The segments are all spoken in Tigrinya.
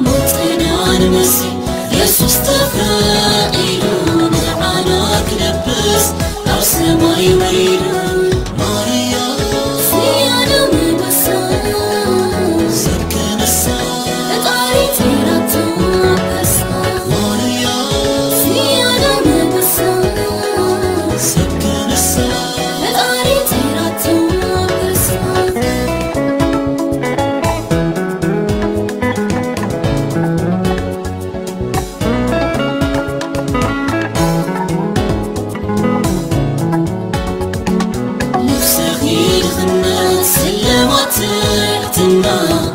ሞትና ንመስል የሱስ ተፈቒዱ ንዓና ክለብስ ኣብ ሰማይ ወሪዱ። ማርያ ዝያዳ መበሳ ሰብ ክነሳ ፈጣሪ ጸይራቶ በሳ። ማርያ ዝያዳ መበሳ ሰብ ክነሳ ፈጣሪ ጸይራቶ በሳ። ነፍስኺ ድኽነት ስልማት ትሕትና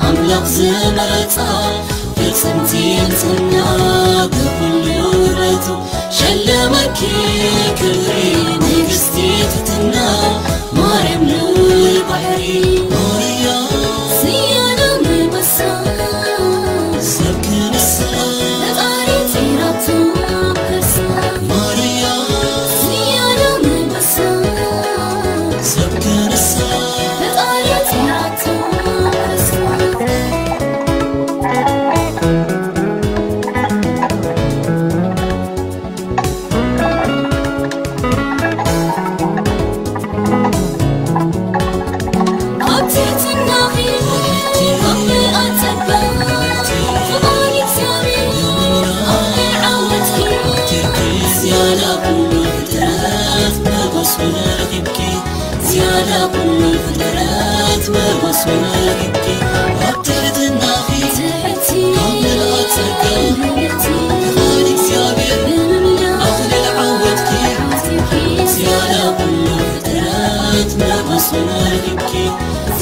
ኣምላኽ ዝመረጻ ፍጽምቲ ንጽህና ብኹሉ ውበቱ ሸለመኪ ክብሪ ንግስቲ ትሕትና ማርያም ልዑል ባሕሪ ማርያ ዝያዳ መበሳ ሰብ ክነሳ ፈጣሪ ጸይራቶ በሳ። ማርያ ዝያዳ መበሳ ሰብ ክነሳ ፈጣሪ ጸይራቶ በሳ። ኣብ ትሕትናኺ ኣብ ምልኣት ጸጋ ፍቓድ እግዚኣብሔር ኣብ ናይ ዓወትኪ ዝያዳ ኩሉ ፍጥረት መጎስ ረኺብኪ። ዝያዳ ኩሉ ፍጥረት መጎስ ረኺብኪ። ኣብ ትሕትናኺ ትሕቲ ኣብ ምልኣት ጸጋ ፍቓድ እግዚኣብሔር ብምምላእ ኣኽሊል ዓወትኪ። ዝያዳ ኩሉ ፍጥረት መጎስ ረኺብኪ።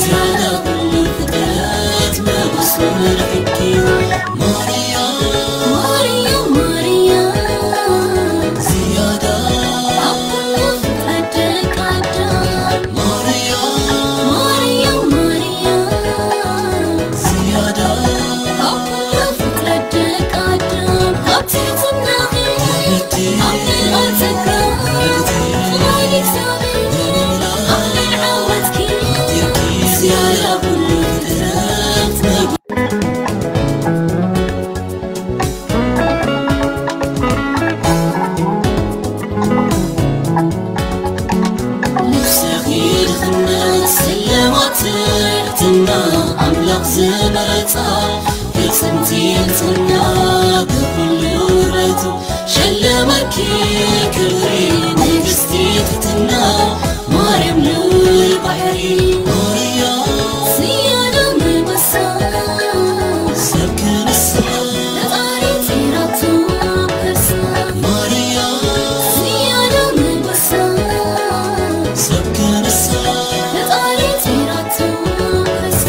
ዝያዳ ኩሉ ፍጥረት መጎስ ረኺብኪ። ማርያ ማርያ ማርያ ዝያዳ ኣብ ኩሉ ፍጥረት ደቂ ኣዳም ማርያ ማርያ ማርያ ዝያዳ ኣብ ኩሉ ፍጥረት ደቂ ኣዳም ኣብ ትሕትናኺ ኣብ ምልኣት ጸጋ ፍቓድ እግዚኣብሔር ኣብ ናይ ዓወትኪ ዝያዳ ኩሉ ፍጥረት ነፍስኺ ድኽነት ስልማት ትሕትና ኣምላኽ ዝመረጻ ፍጽምቲ ንጽህና ብኹሉ ውበቱ ሸለመኪ ክብሪ ንግስቲ ትሕትና ማርያም ልዑል ባሕሪ ማርያ ዝያዳ መበሳ ሰብ ክነሳ ፈጣሪ ጸይራቶ በሳ። ማርያ ዝያዳ መበሳ ሰብ ክነሳ ፈጣሪ ጸይራቶ በሳ።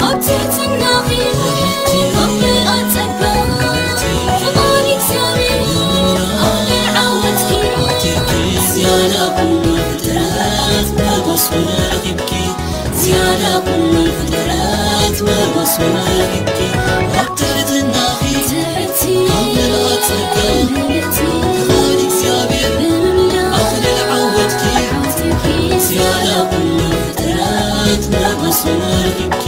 ኣብ ትሕትናኺ ኣብ ምልኣት ጸጋ ፍቓድ እግዚኣብሔር ኣብ ናይ ዓወትኪ ዝያዳ ኩሉ ፍጥረት መጎስ ረኺብኪ። ዝያዳ ኩሉ ፍጥረት መጎስ ረኺብኪ። ኣብ ትሕትናኺ ትሕቲ ኣብ ምልኣት ጸጋ ፍቓድ እግዚኣብሔር ብምምላእ ኣኽሊል ዓወትኪ። ዝያዳ ኩሉ ፍጥረት መጎስ ረኺብኪ።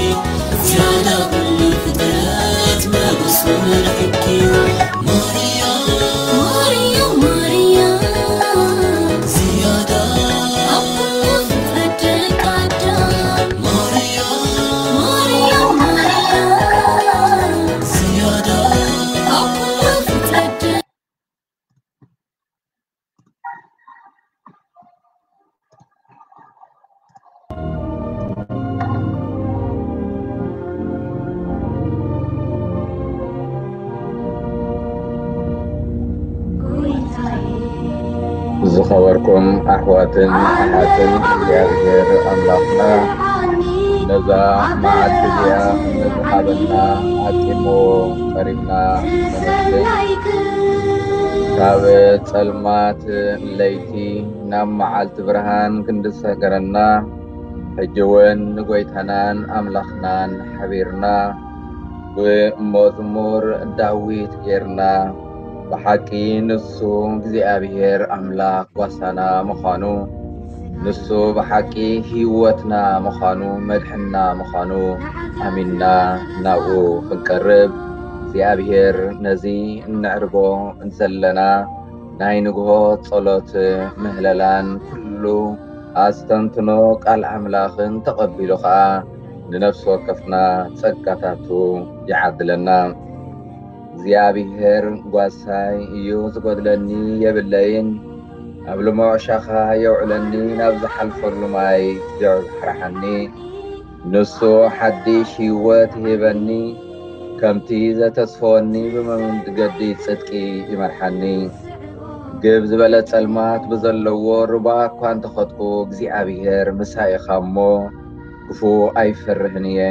ዝያዳ ኩሉ ፍጥረት መጎስ ረኺብኪ። ማርያ ማርያ ማርያ ዝያዳ ኣብ ኩሉ ፍጥረት ደቂ ኣዳም ማርያ ማርያ ማርያ ዝያዳ ኣብ ኩሉ ፍጥረት ዝኸበርኩም ኣሕዋትን ኣሓትን እግዚኣብሔር ኣምላኽና ነዛ መዓልቲ እዚኣ ንዝሃበና ኣጢሞ ቀሪብና ነመስግን። ካብ ጸልማት ለይቲ ናብ መዓልቲ ብርሃን ክንድሰገረና ሕጂ እውን ንጎይታናን ኣምላኽናን ሓቢርና ብመዝሙር ዳዊት ጌርና ብሓቂ ንሱ እግዚኣብሔር ኣምላኽ ጓሳና ምዃኑ፣ ንሱ ብሓቂ ህይወትና ምዃኑ፣ መድሕንና ምዃኑ ኣሚንና ናብኡ ክንቀርብ እግዚኣብሔር ነዚ እነዕርጎ ዘለና ናይ ንግሆ ጸሎት ምህለላን ኩሉ ኣስተንትኖ ቃል ኣምላኽን ተቐቢሉ ኸኣ ንነፍሲ ወከፍና ጸጋታቱ ይዓድለና። እግዚኣብሔር ጓሳይ እዩ፣ ዝጎድለኒ የብለይን። ኣብ ልሙዕ ሻኻ የውዕለኒ፣ ናብ ዝሓልፈሉ ማይ የብሓርሓኒ። ንሱ ሓድሽ ህይወት ይህበኒ፣ ከምቲ ዘተስፈወኒ ብመንገዲ ጽድቂ ይመርሓኒ። ግብ ዝበለ ጸልማት ብዘለዎ ሩባ እኳ እንተኸድኩ፣ እግዚኣብሔር ምሳይ ኢኻ እሞ፣ ክፉእ ኣይፈርህን እየ።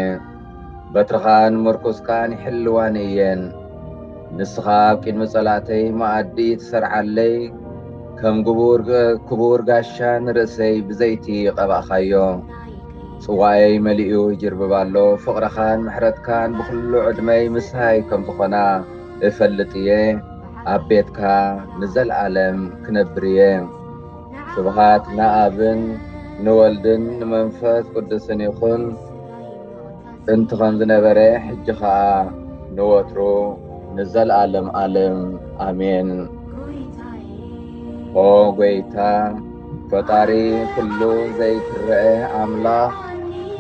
በትርኻን ምርኩስካን ይሕልዋኒ እየን። ንስኻ ኣብ ቅድሚ ጸላእተይ መኣዲ ትሰርዓለይ፣ ከም ግቡር፣ ክቡር ጋሻ ንርእሰይ ብዘይቲ ቀባእኻዮ። ጽዋየይ መሊኡ ይጅርብብ ኣሎ፣ ፍቕርኻን ምሕረትካን ብኹሉ ዕድመይ ምሳይ ከም ዝኾና እፈልጥ እየ። ኣብ ቤትካ ንዘለኣለም ክነብር እየ። ስብሃት ንኣብን ንወልድን ንመንፈስ ቅዱስን ይኹን፣ ጥንቲ ከም ዝነበረ፣ ሕጂ ኸኣ ንወትሩ ንዘለኣለም ኣለም ኣሜን። ኦ ጐይታ፣ ፈጣሪ ኩሉ ዘይትረአ ኣምላኽ፣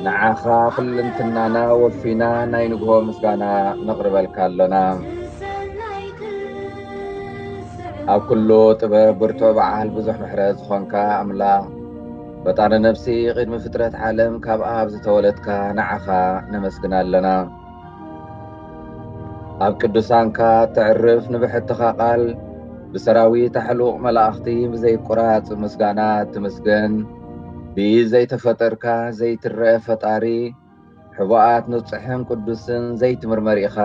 ንዓኻ ኩልንትናና ወፊና ናይ ንግሆ ምስጋና ነቕርበልካ ኣሎና። ኣብ ኩሉ ጥበብ ብርቱዕ በዓል ብዙሕ ምሕረት ዝኾንካ ኣምላኽ፣ ፈጣሪ ነፍሲ፣ ቅድሚ ፍጥረት ዓለም ካብ ኣብ ዝተወለድካ ንዓኻ ነመስግና ኣለና። ኣብ ቅዱሳንካ ተዕርፍ ንብሕትኻ ቃል፣ ብሰራዊት ኣሕሉቕ መላእኽቲ ብዘይቁራጽ ምስጋና ትምስገን። ብኢድ ዘይተፈጠርካ ዘይትረአ ፈጣሪ፣ ሕቡኣት ንጹሕን ቅዱስን ዘይትምርመር ኢኻ።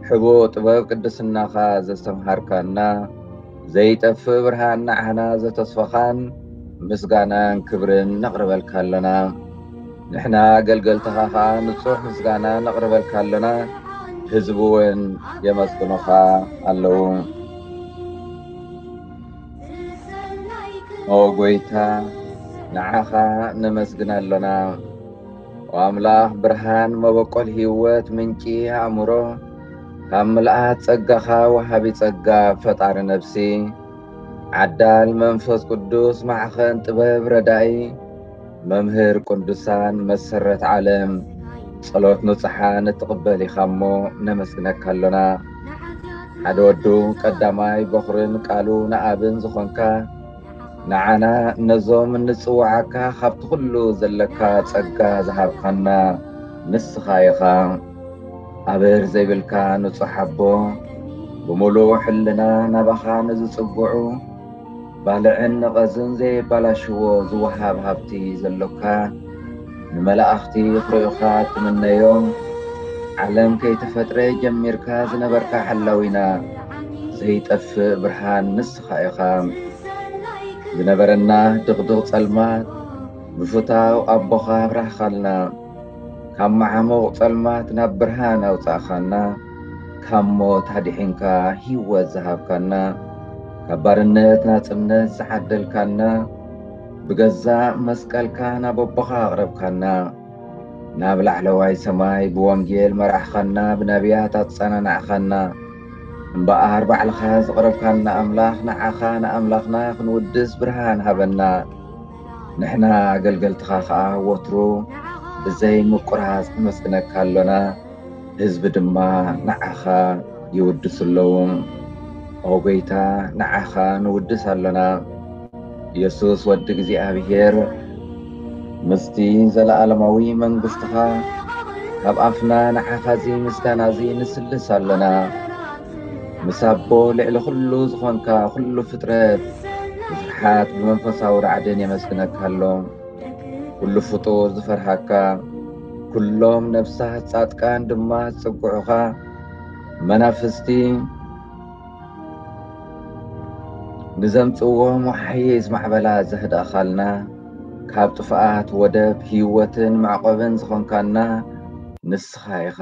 ሕቡእ ጥበብ ቅድስናኻ ዘስተምሃርካና፣ ዘይጠፍእ ብርሃን ንዓና ዘተስፈኻን ምስጋናን ክብርን ነቕርበልካ ኣሎና። ንሕና ኣገልገልትኻ ኸኣ ንጹሕ ምስጋና ነቕርበልካ ኣሎና፣ ህዝቢ እውን የመስግኑኻ ኣለዉ። ኦ ጐይታ፣ ንዓኻ ነመስግን ኣሎና። ኦ ኣምላኽ ብርሃን፣ መበቆል ህይወት፣ ምንጪ ኣእምሮ፣ ካብ ምልኣት ጸጋኻ ወሃቢ ጸጋ ፈጣሪ ነፍሲ፣ ዓዳል መንፈስ ቅዱስ፣ ማዕኸን ጥበብ ረዳኢ፣ መምህር ቅዱሳን፣ መሰረት ዓለም፣ ጸሎት ንጹሓን እትቕበል ኢኻ እሞ ነመስግነካ ኣሎና። ሓደ ወዱ ቀዳማይ በኹርን ቃሉ ንኣብን ዝኾንካ፣ ንዓና ነዞም እንጽውዓካ ካብቲ ኩሉ ዘለካ ጸጋ ዝሃብካና ንስኻ ኢኻ። ኣበር ዘይብልካ ንጹሕ ኣቦ፣ ብምሉእ ሕልና ናባኻ ንዝጽግዑ፣ ባልዕን ነቐዝን ዘየባላሽዎ ዝወሃብ ሃብቲ ዘሎካ፣ ንመላእኽቲ ክርእዩኻ ትምነዮም። ዓለም ከይተፈጥረ ጀሚርካ ዝነበርካ ሓላዊና፣ ዘይጠፍእ ብርሃን ንስኻ ኢኻ። ዝነበረና ድቕድቕ ጸልማት ብፍታው ኣቦኻ ኣብራህኻልና። ካብ መዓሙቕ ጸልማት ናብ ብርሃን ኣውጻእኻና። ካብ ሞት ኣድሒንካ ህይወት ዝሃብካና፣ ካብ ባርነት ናጽነት ዝዓደልካና፣ ብገዛእ መስቀልካ ናብ ኣቦኻ ኣቕረብካና። ናብ ላዕለዋይ ሰማይ ብወንጌል መራሕኻና፣ ብነቢያት ኣጸናናዕኻና። እምበኣር ባዕልኻ ዘቕረብካና ኣምላኽ፣ ንዓኻ ንኣምላኽና ክንውድስ ብርሃን ሃበና። ንሕና ኣገልገልትኻ ኸኣ ወትሩ ብዘይ ምቁራጽ ነመስግነካ ኣሎና። ህዝቢ ድማ ንዓኻ ይውድሱ ኣለዉ። ኦ ጐይታ፣ ንዓኻ ንውድስ ኣሎና። የሱስ ወዲ እግዚኣብሔር፣ ምስቲ ዘለኣለማዊ መንግስትኻ ካብ ኣፍና ንዓኻ እዚ ምስጋና እዚ ንስልስ ኣሎና። ምስ ኣቦ ልዕሊ ኩሉ ዝኾንካ ኩሉ ፍጥረት ብፍርሓት ብመንፈሳዊ ራዕድን የመስግነካ ኣሎ። ኩሉ ፍጡር ዝፈርሃካ፣ ኩሎም ነፍሳት ጻድቃን ድማ ዝጽግዑኻ፣ መናፍስቲ ንዘምጽዎም ወሓይዝ ማዕበላ ዘህድእኻልና፣ ካብ ጥፍኣት ወደብ ህይወትን መዕቆብን ዝኾንካና ንስኻ ኢኻ።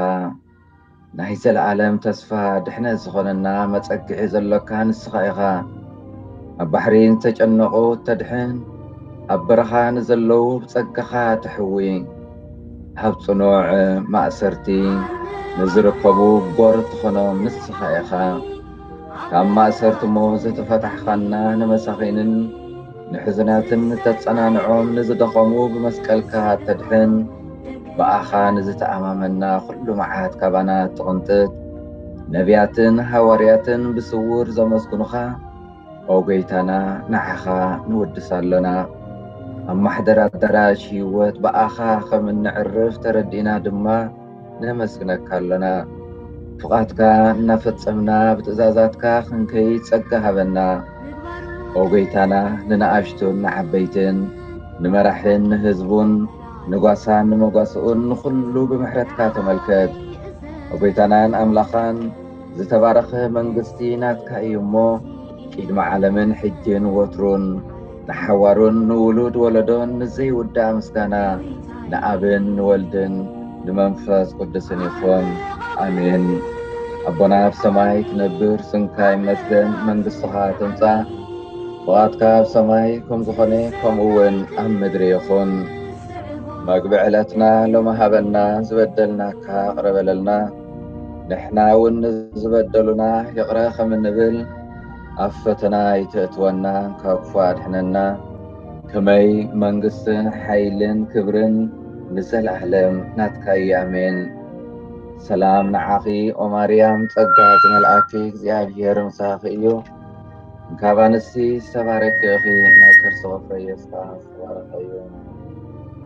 ናይ ዘለኣለም ተስፋ ድሕነት ዝኾነና መጸግዒ ዘሎካ ንስኻ ኢኻ። ኣብ ባሕሪ ንተጨነቑ እተድሕን፣ ኣብ በረኻ ንዘለዉ ብጸጋኻ ትሕዊ። ኣብ ጽኑዕ ማእሰርቲ ንዝርከቡ ጎር ትኾኖም ንስኻ ኢኻ። ካብ ማእሰርቲ ሞት ዝተፈታሕኻና ንመሳኺንን ንሕዙናትን እተጸናንዖም ንዝደኸሙ ብመስቀልካ እተድሕን ብኣኻ ንዝተኣማመና ኩሉ መዓት ካባና ትቕንጥጥ ነቢያትን ሃዋርያትን ብስውር ዘመስግኑኻ ኦ ጎይታና ንዓኻ ንውድስ ኣሎና። ኣብ ማሕደር ኣዳራሽ ህይወት ብኣኻ ከም እንዕርፍ ተረዲእና ድማ ነመስግነካ ኣሎና። ፍቓድካ እናፈጸምና ብትእዛዛትካ ክንከይድ ጸጋ ሃበና። ኦ ጎይታና ንንኣሽቱን ንዓበይትን ንመራሕን ንህዝቡን ንጓሳን ንመጓስኡን ንኹሉ ብምሕረትካ ተመልከት። ኦ ጎይታናን ኣምላኻን ዝተባረኸ መንግስቲ ናትካ እዩ እሞ ቅድሚ ዓለምን ሕጅን ወትሩን ንሓዋሩን ንውሉድ ወለዶን ንዘይውዳእ ምስጋና ንኣብን ንወልድን ንመንፈስ ቅዱስን ይኹን። ኣሜን። ኣቦና ኣብ ሰማይ ትነብር፣ ስምካ ይመስገን፣ መንግስትኻ ትምጻእ፣ ፍቓድካ ኣብ ሰማይ ከም ዝኾነ ከምኡ እውን ኣብ ምድሪ ይኹን። መግቢ ዕለትና ሎሚ ሃበና፣ ዝበደልናካ ይቕረ በለልና፣ ንሕና እውን ንዝበደሉና ይቕረ ከም እንብል፣ ኣብ ፈተና ኣይተእትወና፣ ካብ ክፉእ ኣድሕነና። ከመይ መንግስትን ሓይልን ክብርን ንዘለኣለም ናትካ እዩ። ኣሜን። ሰላም ንዓኺ ኦ ማርያም፣ ጸጋ ዝመልኣኪ እግዚኣብሔር ምሳኺ እዩ። እንካብ ኣንስቲ ዝተባረኪ ኢኺ፣ ናይ ከርስኺ ፍረ ኢየሱስ ዝተባረኸ እዩ።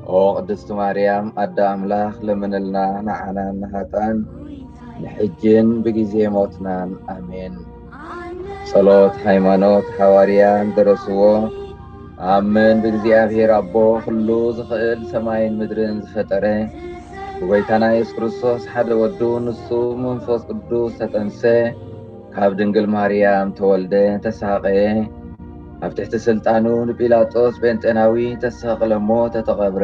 ኦ ቅድስቲ ማርያም ኣደ ኣምላኽ፣ ለምንልና ንዓና ንሃጣን ንሕጅን ብግዜ ሞትናን። ኣሜን። ጸሎት ሃይማኖት፣ ሃዋርያ እንደረስዎ፣ ኣምን ብእግዚኣብሔር ኣቦ ኩሉ ዝኽእል ሰማይን ምድርን ዝፈጠረ፣ ብጎይታና የሱስ ክርስቶስ ሓደ ወዱ፣ ንሱ መንፈስ ቅዱስ ተጠንሰ፣ ካብ ድንግል ማርያም ተወልደ፣ ተሳቐየ፣ ኣብ ትሕቲ ስልጣኑ ንጲላጦስ ጴንጤናዊ ተሳቕለ፣ ሞተ፣ ተቐብረ፣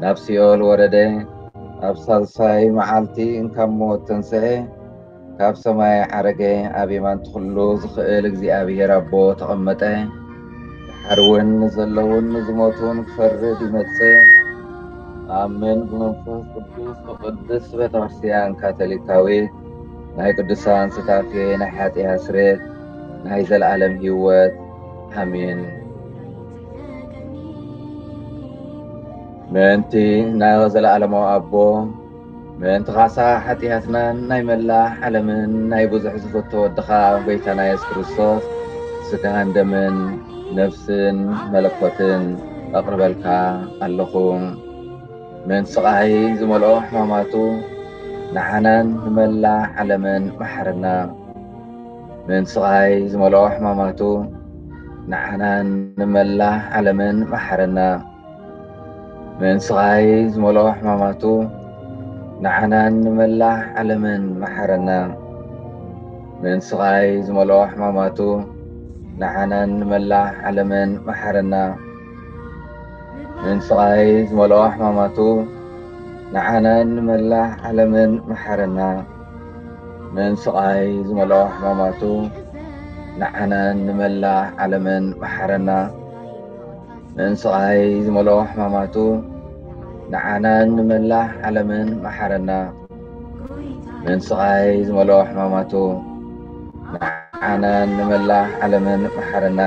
ናብ ሲኦል ወረደ፣ ኣብ ሳልሳይ መዓልቲ እንካብ ሞት ተንስአ፣ ካብ ሰማይ ዓረገ፣ ኣብ የማን ኩሉ ዝኽእል እግዚኣብሔር ኣቦ ተቐመጠ። ድሓር እውን ንዘለውን ንዝሞቱን ክፈርድ ይመጽእ። ኣምን ብመንፈስ ቅዱስ ብቅድስት ቤተክርስትያን ካቶሊካዊት፣ ናይ ቅዱሳን ሱታፌ፣ ናይ ሓጢኣት ስርየት፣ ናይ ዘለኣለም ህይወት። ኣሜን። ምእንቲ ናይ ዘለኣለማዊ ኣቦ፣ ምእንቲ ካሳ ሓጢኣትናን ናይ መላእ ዓለምን ናይ ብዙሕ ዝፍቶ ወድኻ ጎይታና የሱስ ክርስቶስ ስጋን ደምን ነፍስን መለኮትን ኣቕርበልካ ኣለኹ። ምእንቲ ስቓይ ዝመልኦ ሕማማቱ ንዓናን ንመላእ ዓለምን መሓረና። ምእንቲ ስቓይ ዝመልኦ ሕማማቱ ንዓናን ንመላእ ዓለምን መሓረና። ምእንቲ ስቓይ ዝመልኦ ሕማማቱ ንዓናን ንመላእ ዓለምን መሓረና። ምእንቲ ስቓይ ዝመልኦ ሕማማቱ ንዓናን ንመላእ ዓለምን መሓረና። ምእንቲ ስቓይ ዝመልኦ ሕማማቱ ንዓናን ንመላእ ዓለምን መሓረና። ምእንቲ ስቓይ ዝመልኦ ሕማማቱ ንዓናን ንመላእ ዓለምን መሓረና። ምእንቲ ስቓይ ዝመልኦ ሕማማቱ ንዓናን ንመላእ ዓለምን መሓረና። ምእንቲ ስቓይ ዝመልኦ ሕማማቱ ንዓናን ንመላእ ዓለምን መሓረና።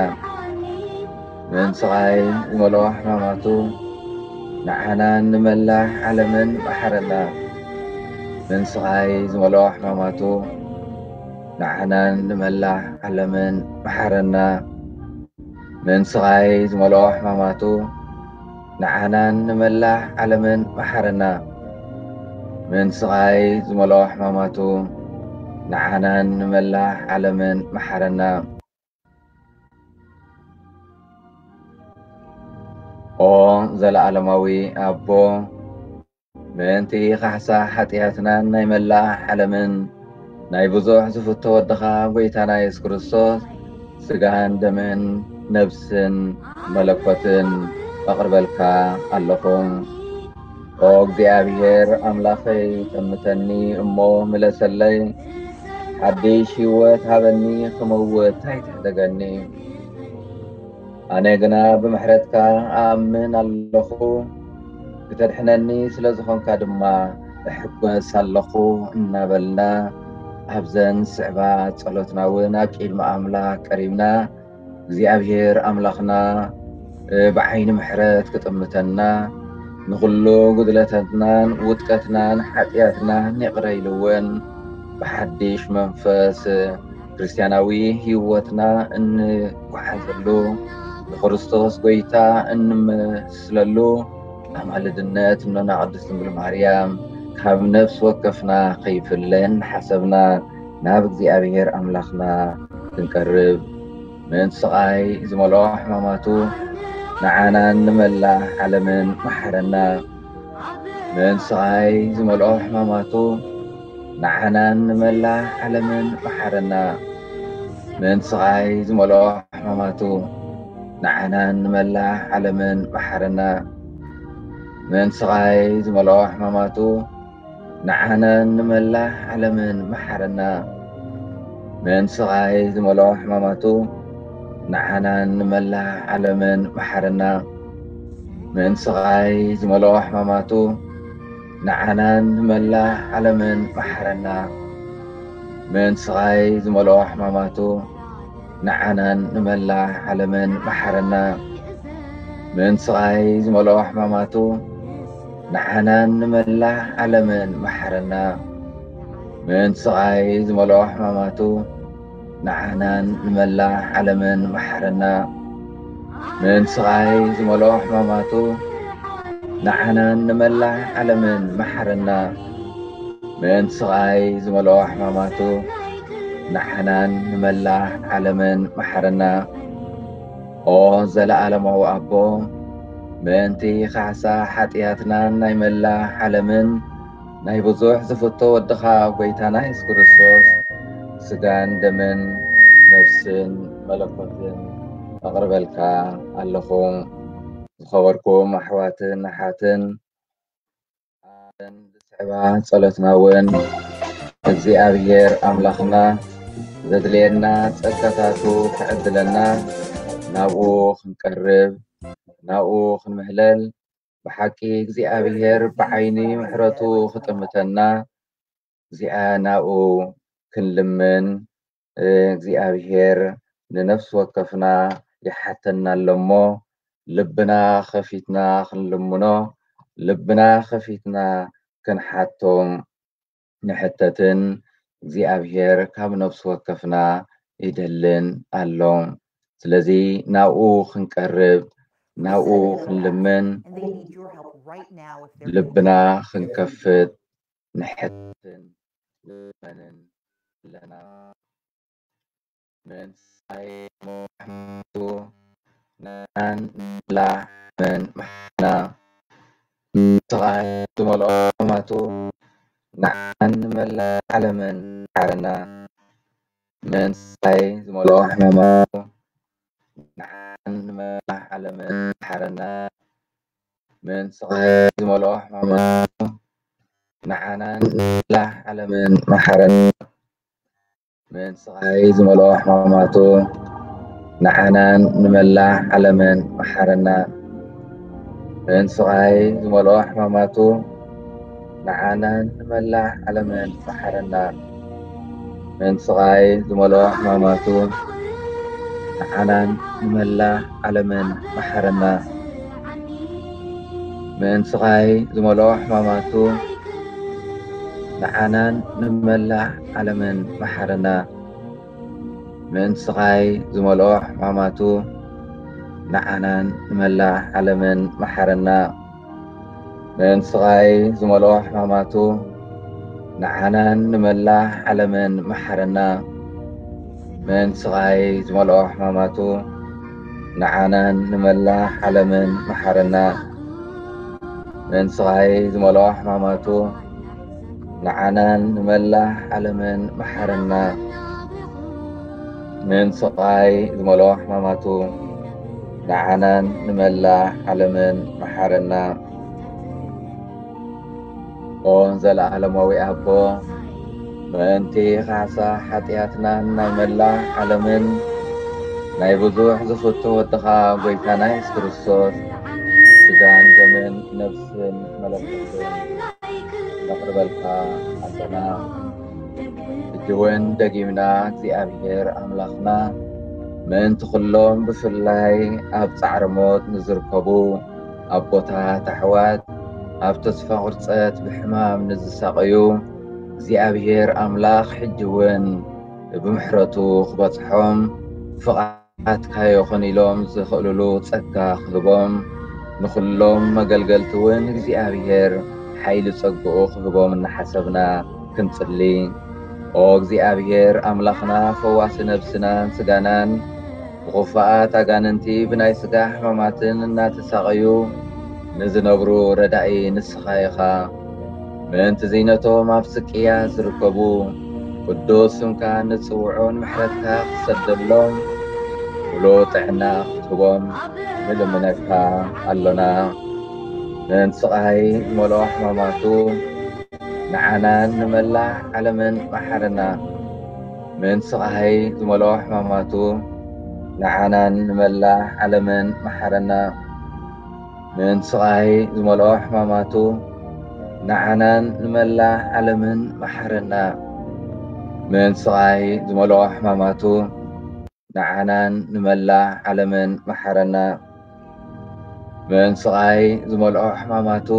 ምእንቲ ስቓይ ዝመልኦ ሕማማቱ ንዓናን ንመላእ ዓለምን መሓረና። ምእንቲ ስቓይ ዝመልኦ ሕማማቱ ንዓናን ንመላእ ዓለምን መሓረና። ምእንቲ ስቓይ ዝመልኦ ሕማማቱ ንዓናን ንመላእ ዓለምን መሓረና። ምእንቲ ስቓይ ዝመልኦ ሕማማቱ ንዓናን ንመላእ ዓለምን መሓረና። ኦ ዘለኣለማዊ ኣቦ፣ ምእንቲ ካሕሳ ሓጢኣትናን ናይ መላእ ዓለምን ናይ ብዙሕ ዝፍቶ ወድኻ ጎይታና የሱስ ክርስቶስ ስጋን ደምን ነብስን መለኮትን ኣቕርበልካ ኣለኹ። እግዚኣብሔር ኣምላኸይ፣ ጠምተኒ እሞ ምለሰለይ፣ ሓድሽ ህይወት ሃበኒ፣ ክመውት ኣይትሕደገኒ። ኣነ ግና ብምሕረትካ ኣኣምን ኣለኹ፣ ክተድሕነኒ ስለ ዝኾንካ ድማ እሕጎስ ኣለኹ እናበልና ኣብዘን ስዕባ ጸሎትና እውን ኣብ ቅድሚ ኣምላኽ ቀሪብና እግዚኣብሔር ኣምላኽና ብዓይኒ ምሕረት ክጥምተና፣ ንኹሉ ጉድለታትናን ውድቀትናን ሓጢኣትናን ይቕረ ኢሉ እውን ብሓድሽ መንፈስ ክርስትያናዊ ህይወትና እንጓዓዘሉ፣ ንክርስቶስ ጎይታ እንመስለሉ ኣማልድነት እኖና ቅድስት ድንግል ማርያም ካብ ነፍሲ ወከፍና ከይፍለ እናሓሰብና ናብ እግዚኣብሔር ኣምላኽና ክንቀርብ፣ ምእንቲ ስቓይ ዝመልኦ ሕማማቱ ንዓናን ንመላእ ዓለምን መሓረና። ምእንቲ ስቓይ ዝመልኦ ሕማማቱ ንዓናን ንመላእ ዓለምን መሓረና። ምእንቲ ስቓይ ዝመልኦ ሕማማቱ ንዓናን ንመላእ ዓለምን መሓረና። ምእንቲ ስቓይ ዝመልኦ ሕማማቱ ንዓናን ንመላእ ዓለምን መሓረና። ምእንቲ ስቓይ ዝመልኦ ሕማማቱ ንዓናን ንመላእ ዓለምን መሓረና። ምእንቲ ስቓይ ዝመልኦ ሕማማቱ ንዓናን ንመላእ ዓለምን መሓረና። ምእንቲ ስቓይ ዝመልኦ ሕማማቱ ንዓናን ንመላእ ዓለምን መሓረና። ምእንቲ ስቓይ ዝመልኦ ሕማማቱ ንዓናን ንመላእ ዓለምን መሓረና። ምእንቲ ስቓይ ዝመልኦ ሕማማቱ ንዓናን ንመላእ ዓለምን መሓረና። ምእንቲ ስቓይ ዝመልኦ ሕማማቱ ንዓናን ንመላእ ዓለምን መሓረና። ምእንቲ ስቓይ ዝመልኦ ሕማማቱ ንዓናን ንመላእ ዓለምን መሓረና። ኦ ዘለዓለማዊ ኣቦ፣ ምእንቲ ካሕሳ ሓጢኣትናን ናይ መላእ ዓለምን ናይ ብዙሕ ዝፍቶ ወድኻ ጎይታና የሱስ ክርስቶስ ስጋን ደምን ነፍስን መለኮትን ኣቕርበልካ ኣለኹ። ዝኸበርኩም ኣሕዋትን ኣሓትን፣ ኣብዘን ዝስዕባ ጸሎትና እውን እግዚኣብሔር ኣምላኽና ዘድልየና ጸጋታቱ ክዕድለና ናብኡ ክንቀርብ ናብኡ ክንምህለል ብሓቂ እግዚኣብሔር ብዓይኒ ምሕረቱ ክጥምተና እዚኣ ናብኡ ክንልምን እግዚኣብሔር ንነፍሲ ወከፍና ይሓተና ኣሎ እሞ ልብና ከፊትና ክንልምኖ ልብና ከፊትና ክንሓቶም ንሕተትን እግዚኣብሔር ካብ ነፍሲ ወከፍና ይደልን ኣሎ። ስለዚ ናብኡ ክንቀርብ ናብኡ ክንልምን ልብና ክንከፍት ንሕትን ንልመንን ኣለና። ምእንቲ ስቓይ ሞቱ ንዓናን ንመላእ ዓለምን መሓረና። ምእንቲ ስቓይ ዝመልኦ ሕማማቱ ንዓናን ንመላእ ዓለምን መሓረና። ምእንቲ ስቓይ ዝመልኦ ሕማማቱ ንዓናን ንመላእ ዓለምን መሓረና። ምእንቲ ስቓይ ዝመልኦ ሕማማቱ ንዓናን ንመላእ ዓለምን መሓረና። ምእንቲ ስቓይ ዝመልኦ ሕማማቱ ንዓናን ንመላእ ዓለምን መሓረና። ምእንቲ ስቓይ ዝመልኦ ሕማማቱ ንዓናን ንመላእ ዓለምን መሓረና። ምእንቲ ስቓይ ዝመልኦ ሕማማቱ ንዓናን ንመላእ ዓለምን መሓረና። ምእንቲ ስቓይ ዝመልኦ ሕማማቱ ንዓናን ንመላእ ዓለምን መሓረና። ምእንቲ ስቓይ ዝመልኦ ሕማማቱ ንዓናን ንመላእ ዓለምን መሓረና። ምእንቲ ስቓይ ዝመልኦ ሕማማቱ ንዓናን ንመላእ ዓለምን መሓረና። ምእንቲ ስቓይ ዝመልኦ ሕማማቱ ንዓናን ንመላእ ዓለምን መሓረና። ምእንቲ ስቓይ ዝመልኦ ሕማማቱ ንዓናን ንመላእ ዓለምን መሓረና። ምእንቲ ስቓይ ዝመልኦ ሕማማቱ ንዓናን ንመላእ ዓለምን መሓረና። ኦን ዘለዓለማዊ ኣቦ፣ ምእንቲ ካሕሳ ሓጢኣትናን ናይ መላእ ዓለምን ናይ ብዙሕ ዝፍቶ ወድኻ ጎይታና የሱስ ክርስቶስ ስጋን ደምን ነፍስን መለኮትን ነቕርበልካ ኣለና። ሕጂ እውን ደጊምና እግዚኣብሔር ኣምላኽና ምእንቲ ኩሎም ብፍላይ ኣብ ጻዕሪ ሞት ንዝርከቡ ኣቦታት ኣሕዋት ኣብ ተስፋ ቁርጸት ብሕማም ንዝሳቐዩ እግዚኣብሔር ኣምላኽ ሕጂ እውን ብምሕረቱ ክበጽሖም ፍቓድካ ይኹን ኢሎም ዝኽእልሉ ጸጋ ክህቦም ንኹሎም መገልገልቲ እውን እግዚኣብሔር ሓይሊ ጸግኡ ክህቦም እናሓሰብና ክንጽሊ። ኦ እግዚኣብሔር ኣምላኽና ፈዋሲ ነብስናን ስጋናን ብኽፉኣት ኣጋንንቲ ብናይ ስጋ ሕማማትን እናተሳቐዩ ንዝነብሩ ረዳኢ ንስኻ ኢኻ። ምእንቲ እዚ ነቶም ኣብ ስቅያ ዝርከቡ ቅዱስ ስምካ ንጽውዖን ምሕረትካ ክሰደሎም ሙሉእ ጥዕና ክትህቦም ንልምነካ ኣሎና። ምእንቲ ስቓይ ዝመልኦ ሕማማቱ ንዓናን ንመላእ ዓለምን መሓረና። ምእንቲ ስቓይ ዝመልኦ ሕማማቱ ንዓናን ንመላእ ዓለምን መሓረና። ምእንቲ ስቓይ ዝመልኦ ሕማማቱ ንዓናን ንመላእ ዓለምን መሓረና። ምእንቲ ስቓይ ዝመልኦ ሕማማቱ ንዓናን ንመላእ ዓለምን መሓረና። ምእንቲ ስቓይ ዝመልኦ ሕማማቱ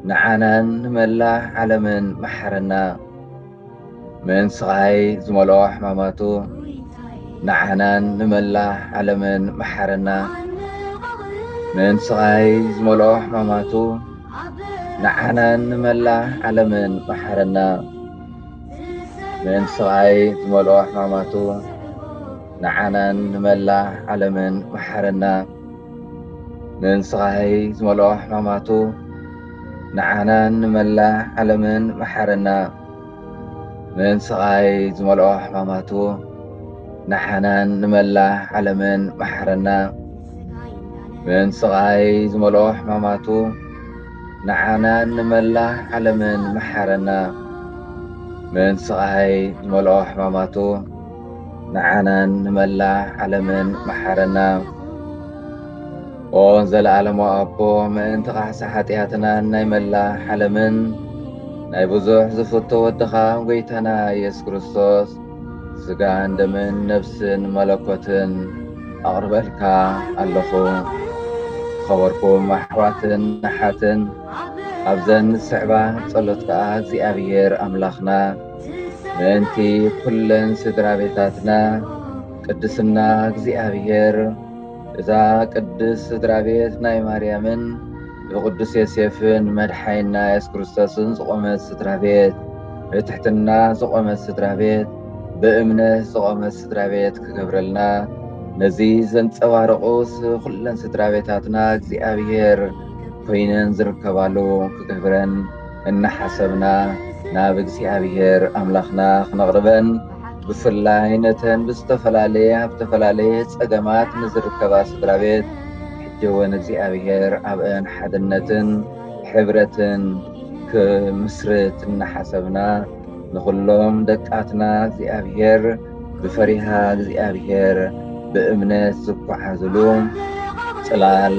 ንዓናን ንመላእ ዓለምን መሓረና። ምእንቲ ስቓይ ዝመልኦ ሕማማቱ ንዓናን ንመላእ ዓለምን መሓረና። ምእንቲ ስቓይ ዝመልኦ ሕማማቱ ንዓናን ንመላእ ዓለምን መሓረና። ምእንቲ ስቓይ ዝመልኦ ሕማማቱ ንዓናን ንመላእ ዓለምን መሓረና። ምእንቲ ስቓይ ዝመልኦ ሕማማቱ ንዓናን ንመላእ ዓለምን መሓረና። ምእንቲ ስቓይ ዝመልኦ ሕማማቱ ንዓናን ንመላእ ዓለምን መሓረና። ምእንቲ ስቓይ ዝመልኦ ሕማማቱ ንዓናን ንመላእ ዓለምን መሓረና። ምእንቲ ስቓይ ዝመልኦ ሕማማቱ ንዓናን ንመላእ ዓለምን መሓረና። ኦ ዘለዓለማዊ ኣቦ፣ ምእንቲ ካሕሳ ሓጢኣትናን ናይ መላእ ዓለምን ናይ ብዙሕ ዝፍቶ ወድኻ ጎይታና የሱስ ክርስቶስ ስጋን ደምን ነፍስን መለኮትን ኣቕርበልካ ኣለኹ። ዝኸበርኩም ኣሕዋትን ኣሓትን፣ ኣብዘን ዝስዕባ ጸሎት ከኣ እግዚኣብሔር ኣምላኽና ምእንቲ ኩለን ስድራ ቤታትና ቅድስና እግዚኣብሔር እዛ ቅድስት ስድራ ቤት ናይ ማርያምን ብቅዱስ ዮሴፍን መድሓይና የሱስ ክርስቶስን ዝቆመት ስድራ ቤት፣ ብትሕትና ዝቆመት ስድራ ቤት፣ ብእምነት ዝቆመት ስድራ ቤት ክገብረልና፣ ነዚ ዘንጸባርቑስ ኩለን ስድራ ቤታትና እግዚኣብሔር ኮይነን ዝርከባሉ ክገብረን እናሓሰብና ናብ እግዚኣብሔር ኣምላኽና ክነቕርበን፣ ብፍላይ ነተን ብዝተፈላለየ ኣብ ዝተፈላለየ ጸገማት ንዝርከባ ስድራ ቤት ሕጂ እውን እግዚኣብሔር ኣብአን ሓድነትን ሕብረትን ክምስርት እናሓሰብና ንኹሎም ደቃትና እግዚኣብሔር ብፈሪሃ እግዚኣብሔር ብእምነት ዝጓዓዝሉ ጽላል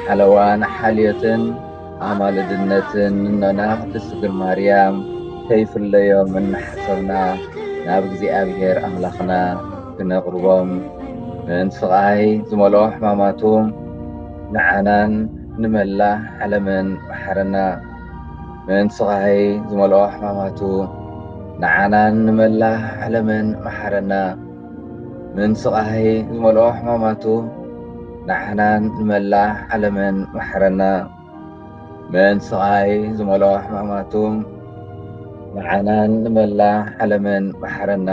ሓለዋን ሓልዮትን ኣማልድነትን እኖና ቅድስት ድንግል ማርያም ከይፍለዮም እናሓሰብና ናብ እግዚኣብሔር ኣምላኽና ክነቕርቦም። ምእንቲ ስቓይ ዝመልኦ ሕማማቱ ንዓናን ንመላእ ዓለምን መሓረና። ምእንቲ ስቓይ ዝመልኦ ሕማማቱ ንዓናን ንመላእ ዓለምን መሓረና። ምእንቲ ስቓይ ዝመልኦ ሕማማቱ ንዓናን ንመላእ ዓለምን መሓረና። ምእንቲ ስቓይ ዝመልኦ ሕማማቱ ንዓናን ንመላእ ዓለምን መሓረና።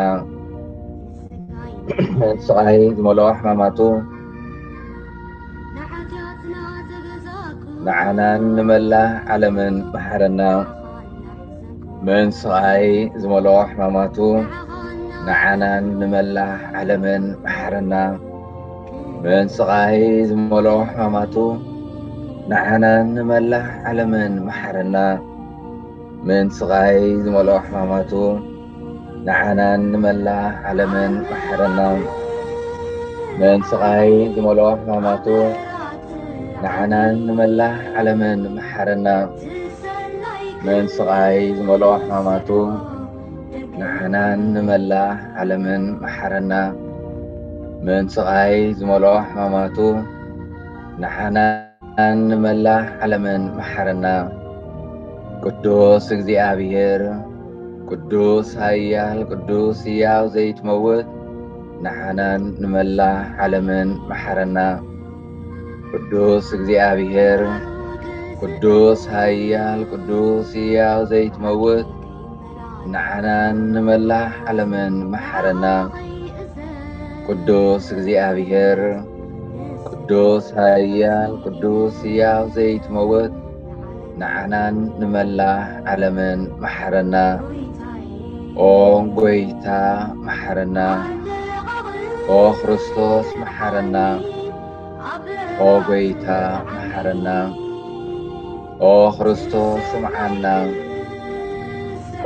ምእንቲ ስቓይ ዝመልኦ ሕማማቱ ንዓናን ንመላእ ዓለምን መሓረና። ምእንቲ ስቓይ ዝመልኦ ሕማማቱ ንዓናን ንመላእ ዓለምን መሓረና። ምእንቲ ስቓይ ዝመልኦ ሕማማቱ ንዓናን ንመላእ ዓለምን መሓረና። ምን ስቓይ ዝመልኦ ሕማማቱ ንዓናን ንመላእ ዓለምን መሓረና። ምን ስቓይ ዝመልኦ ሕማማቱ ንዓናን ንመላእ ዓለምን መሓረና። ምን ስቓይ ዝመልኦ ሕማማቱ ንዓናን ንመላእ ዓለምን መሓረና። ምን ስቓይ ዝመልኦ ሕማማቱ ንዓናን ንመላእ ዓለምን መሓረና። ቅዱስ እግዚኣብሔር፣ ቅዱስ ኃያል፣ ቅዱስ ሕያው ዘይትመውት፣ ንዓናን ንመላእ ዓለምን መሓረና። ቅዱስ እግዚኣብሔር፣ ቅዱስ ኃያል፣ ቅዱስ ሕያው ዘይትመውት፣ ንዓናን ንመላእ ዓለምን መሓረና። ቅዱስ እግዚኣብሔር፣ ቅዱስ ኃያል፣ ቅዱስ ሕያው ዘይትመውት፣ ንዓናን ንመላእ ዓለምን መሓረና። ኦ ጐይታ መሓረና። ኦ ክርስቶስ መሓረና። ኦ ጐይታ መሓረና። ኦ ክርስቶስ ስምዓና።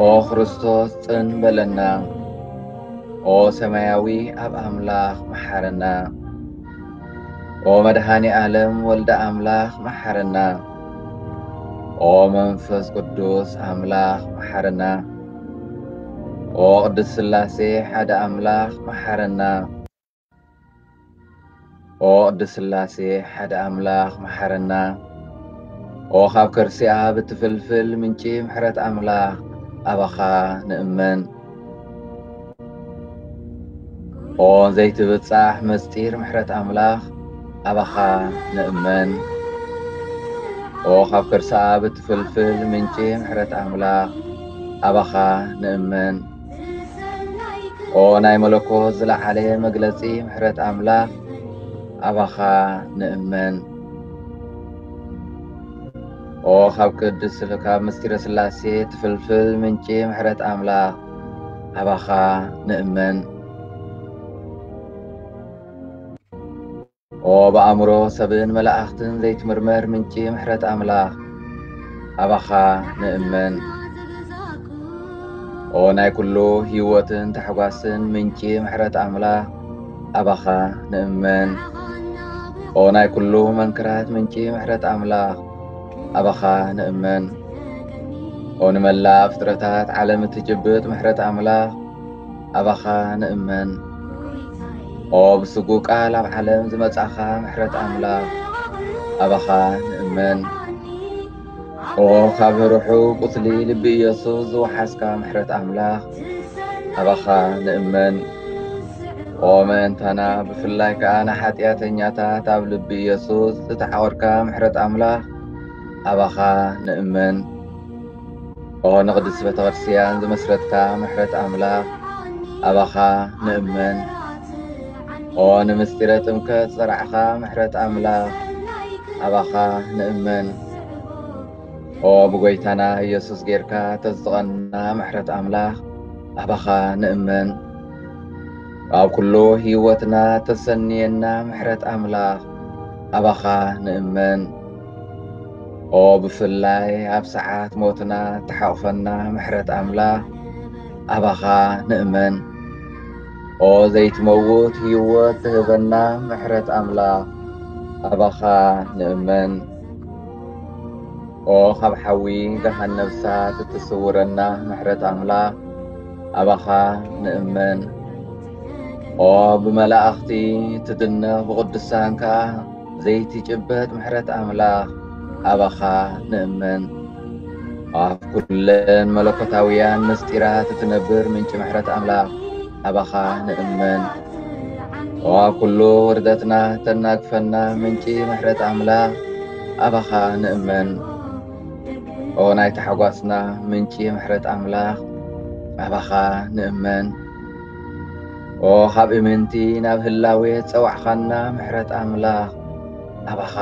ኦ ክርስቶስ ጽን በለና። ኦ ሰማያዊ ኣብ ኣምላኽ መሓረና። ኦ መድኃኔ ዓለም ወልደ ኣምላኽ መሓረና። ኦ መንፈስ ቅዱስ ኣምላኽ መሓረና። ኦ ቅድስት ሥላሴ ሓደ ኣምላኽ መሓረና። ኦ ቅድስት ሥላሴ ሓደ ኣምላኽ መሓረና። ኦ ካብ ከርሲ ኣብ እትፍልፍል ምንጪ ምሕረት ኣምላኽ ኣባኻ ንእመን። ኦ ዘይትብጻሕ መስጢር ምሕረት ኣምላኽ ኣባኻ ንእመን። ኦ ካብ ከርሲ ኣብ እትፍልፍል ምንጪ ምሕረት ኣምላኽ ኣባኻ ንእመን። ኦ ናይ መለኮት ዝለዓለ መግለጺ ምሕረት ኣምላኽ ኣባኻ ንእመን። ኦ ካብ ቅድስ ስል-፣ ካብ ምስጢረ ሥላሴ ትፍልፍል ምንጪ ምሕረት ኣምላኽ ኣባኻ ንእመን። ኦ ብኣእምሮ ሰብን መላእኽትን ዘይትምርመር ምንጪ ምሕረት ኣምላኽ ኣባኻ ንእመን። ኦ ናይ ኩሉ ህይወትን ታሕጓስን ምንጪ ምሕረት ኣምላኽ ኣባኻ ንእመን። ኦ ናይ ኩሉ መንክራት ምንጪ ምሕረት ኣምላኽ ኣባኻ ንእመን። ኦ ንመላእ ፍጥረታት ዓለም እትጭብጥ ምሕረት ኣምላኽ ኣባኻ ንእመን። ኦ ብስጉ ቃል ኣብ ዓለም ዝመጻኻ ምሕረት ኣምላኽ ኣባኻ ንእመን። ኦ ካብ ርሑቕ ቁስሊ ልቢ ኢየሱስ ዝወሓስካ ምሕረት ኣምላኽ ኣባኻ ንእመን። ኦ ምእንታና ብፍላይ ከኣ ንሓጢኣተኛታት ኣብ ልቢ ኢየሱስ ዝተዓቖርካ ምሕረት ኣምላኽ ኣባኻ ንእመን። ኦ ንቅድስቲ ቤተ ክርስቲያን ዝመስረትካ ምሕረት ኣምላኽ ኣባኻ ንእመን። ኦ ንምስጢረ ጥምቀት ዝጸራዕኻ ምሕረት ኣምላኽ ኣባኻ ንእመን። ኦ ብጎይታና ኢየሱስ ጌርካ ተዝትቐና ምሕረት ኣምላኽ ኣባኻ ንእመን። ኣብ ኩሉ ህይወትና ተሰንየና ምሕረት ኣምላኽ ኣባኻ ንእመን። ኦ ብፍላይ ኣብ ሰዓት ሞትና ተሓቑፈና ምሕረት ኣምላኽ ኣባኻ ንእመን። ኦ ዘይትመውት ህይወት ትህበና ምሕረት ኣምላኽ ኣባኻ ንእመን። ኦ ካብ ሓዊ ገሃነብ እሳት እትስውረና ምሕረት ኣምላኽ ኣባኻ ንእመን። ኦ ብመላእኽቲ ትድነቕ ብቕዱሳን ከኣ ዘይትጭበጥ ምሕረት ኣምላኽ ኣባኻ ንእመን። ኣብ ኩለን መለኮታውያን ምስጢራት እትነብር ምንጪ ምሕረት ኣምላኽ ኣባኻ ንእመን። ኦ ኣብ ኩሉ ውርደትና ተናግፈና ምንጪ ምሕረት ኣምላኽ ኣባኻ ንእመን። ኦ ናይ ታሕጓስና ምንጪ ምሕረት ኣምላኽ ኣባኻ ንእመን። ኦ ካብ እምንቲ ናብ ህላዌ ጸዋዕኻና ምሕረት ኣምላኽ ኣባኻ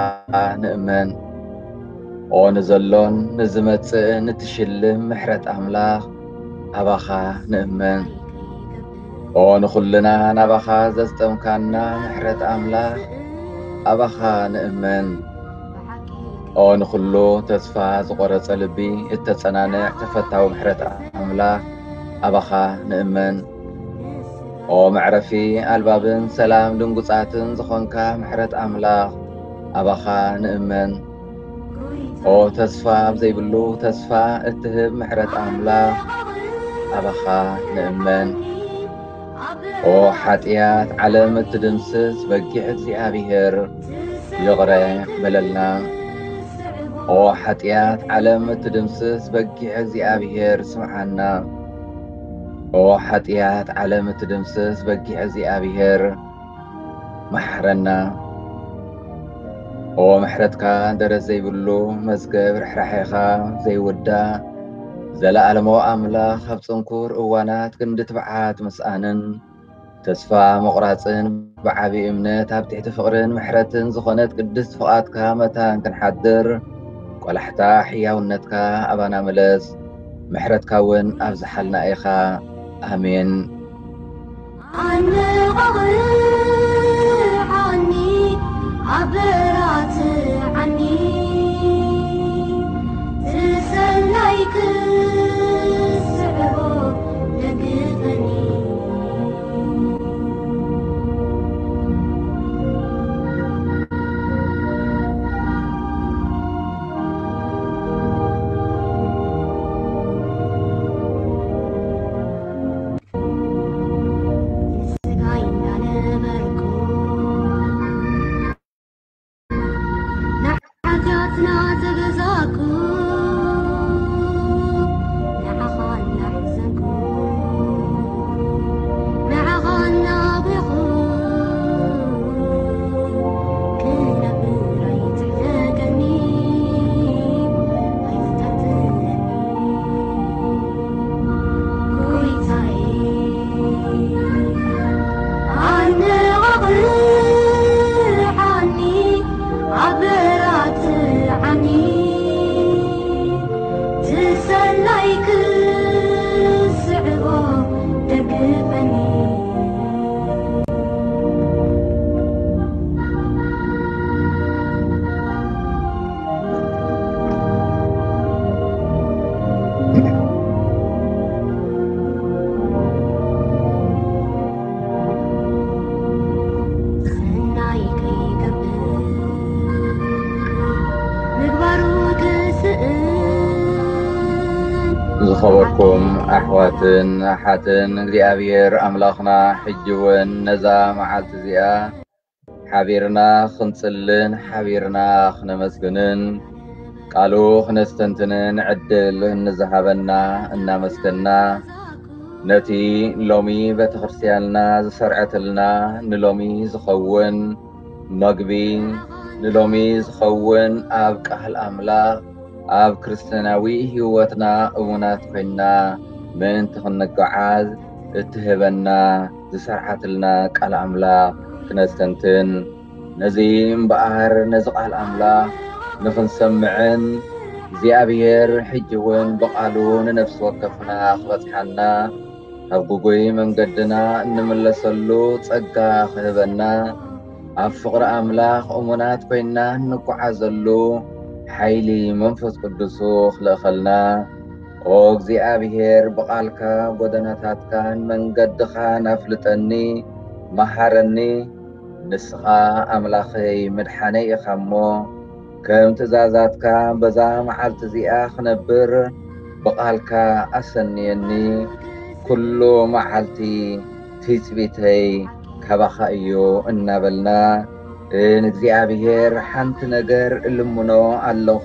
ንእመን። ኦ ንዘሎን ንዝመጽእን እትሽልም ምሕረት ኣምላኽ ኣባኻ ንእመን። ኦ ንኹልና ናባኻ ዘስጠምካና ምሕረት ኣምላኽ ኣባኻ ንእመን። ኦ ንኹሉ ተስፋ ዝቖረጸ ልቢ እተጸናንዕ ተፈታዊ ምሕረት ኣምላኽ፣ ኣባኻ ንእመን። ኦ መዕረፊ ኣልባብን ሰላም ድንጉጻትን ዝኾንካ ምሕረት ኣምላኽ፣ ኣባኻ ንእመን። ኦ ተስፋ ኣብ ዘይብሉ ተስፋ እትህብ ምሕረት ኣምላኽ፣ ኣባኻ ንእመን። ኦ ሓጢኣት ዓለም እትድምስስ በጊዕ እግዚኣብሔር፣ ይቕረ በለልና። ኦ ሓጢኣት ዓለም እትድምስስ በጊዕ እግዚኣብሔር፣ ስምዓና። ኦ ሓጢኣት ዓለም እትድምስስ በጊዕ እግዚኣብሔር፣ መሓረና። ኦ ምሕረትካ ደረት ዘይብሉ መዝገብ ርሕራሕኻ ዘይውዳእ፣ ዘለኣለማዊ ኣምላኽ፣ ኣብ ጽንኩር እዋናት ክንዲ ትብዓት ምስኣንን ተስፋ ምቑራጽን ብዓቢ እምነት ኣብ ትሕቲ ፍቕርን ምሕረትን ዝኾነት ቅድስት ፍቓድካ መታን ክንሓድር፣ ቆላሕታ ሕያውነትካ ኣባና ምለስ፣ ምሕረትካ እውን ኣብዝሓልና ኢኻ። ኣሜን። ኣነቓቕዓኒ፣ ኣበራትዓኒ፣ ዝሰናይ ክስዕቦ ደግፈኒ። ስጋይ እንዳነበርኩ፣ ንሓጢኣትና ተገዛእኩ፣ ንዓኻ እናሕዘንኩ፣ ንዓኻ እናቤኹ፣ ክነብር ኣይትሕደገኒ፣ ኣይትጠርጥረኒ። ጎይታዬ፣ ኣነቓቕዓኒ፣ ኣበራትዓኒ፣ ዝሰናይ ክስዕቦ ደግፈኒ። ሰናይ ከይገብር ምግባሩ ክስእን። ዝኸበርኩም ኣሕዋትን ኣሓትን፣ እግዚኣብሔር ኣምላኽና ሕጂ እውን ነዛ መዓልቲ እዚኣ ሓቢርና ክንጽልን ሓቢርና ክነመስግንን ቃሉ ክነስተንትንን ዕድል ንዝሃበና እናመስገና፣ ነቲ ሎሚ ቤተክርስትያንና ዝሰርዐትልና፣ ንሎሚ ዝኸውን መግቢ፣ ንሎሚ ዝኸውን ኣብ ቃል ኣምላኽ፣ ኣብ ክርስትያናዊ ህይወትና እሙናት ኮይንና ምእንቲ ክንጓዓዝ እትህበና ዝሰርዓትልና ቃል ኣምላኽ ክነስተንትን፣ ነዚ እምበኣር ነዚ ቃል ኣምላኽ ንኽንሰምዕን እግዚኣብሔር ሕጂ እውን ብቓሉ ንነፍሲ ወከፍና ክበጽሓና፣ ካብ ግጉይ መንገድና እንምለሰሉ ጸጋ ክህበና፣ ኣብ ፍቕሪ ኣምላኽ እሙናት ኮይንና እንጓዓዘሉ ሓይሊ መንፈስ ቅዱሱ ክልእኸልና፣ ኦ እግዚኣብሔር፣ ብቓልካ ጎደናታትካን መንገድኻን ኣፍልጠኒ፣ መሃረኒ። ንስኻ ኣምላኸይ መድሓነይ ኢኻ እሞ፣ ከም ትእዛዛትካ በዛ መዓልቲ እዚኣ ክነብር ብቓልካ ኣሰንየኒ። ኩሉ መዓልቲ ትጽቢተይ ካባኻ እዩ እናበልና፣ ንእግዚኣብሔር ሓንቲ ነገር እልምኖ ኣለኹ።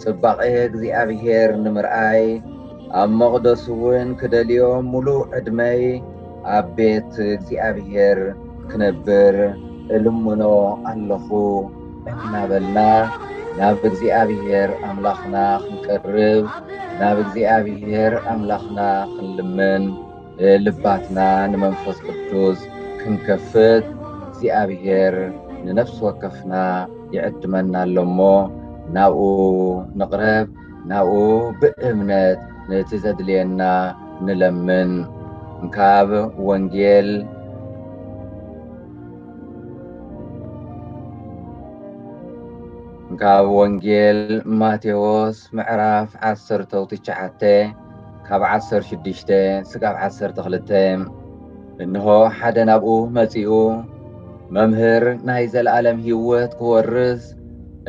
ጽባቐ እግዚኣብሔር ንምርኣይ፣ ኣብ መቕደሱ እውን ክደልዮ፣ ምሉእ ዕድመይ ኣብ ቤት እግዚኣብሔር ክነብር እልምኖ ኣለኹ እናበልና፣ ናብ እግዚኣብሔር ኣምላኽና ክንቀርብ፣ ናብ እግዚኣብሔር ኣምላኽና ክንልምን፣ ልባትና ንመንፈስ ቅዱስ ክንከፍት እግዚኣብሔር ንነፍሲ ወከፍና ይዕድመና ኣሎ እሞ፣ ናብኡ ንቕረብ፣ ናብኡ ብእምነት ነቲ ዘድልየና ንለምን። ካብ ወንጌል ካብ ወንጌል ማቴዎስ ምዕራፍ ዓሰርተ ትሽዓተ ካብ ዓሰርተ ሽዱሽተ ስጋብ ዓሰርተ ክልተ። እንሆ ሓደ ናብኡ መጺኡ፣ "መምህር፣ ናይ ዘለኣለም ህይወት ክወርስ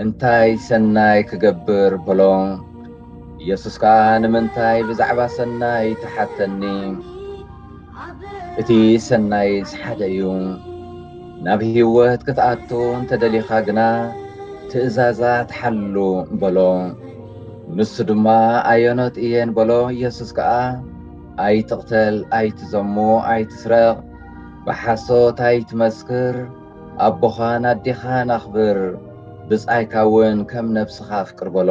እንታይ ሰናይ ክገብር?" በሎ። ኢየሱስ ከኣ፣ "ንምንታይ ብዛዕባ ሰናይ ትሓተኒ? እቲ ሰናይስ ሓደ እዩ። ናብ ህይወት ክትኣቱ እንተ ደሊኻ ግና፣ ትእዛዛት ሓሉ" በሎ። ንሱ ድማ፣ "ኣየኖት እየን?" በሎ። ኢየሱስ ከኣ፣ "ኣይትቕተል፣ ኣይትዘሙ፣ ኣይትስረቕ፣ ብሓሶት ኣይትመስክር፣ ኣቦኻን ኣዴኻን ኣኽብር፣ ብጻይካ እውን ከም ነብስኻ ኣፍቅር" በሎ።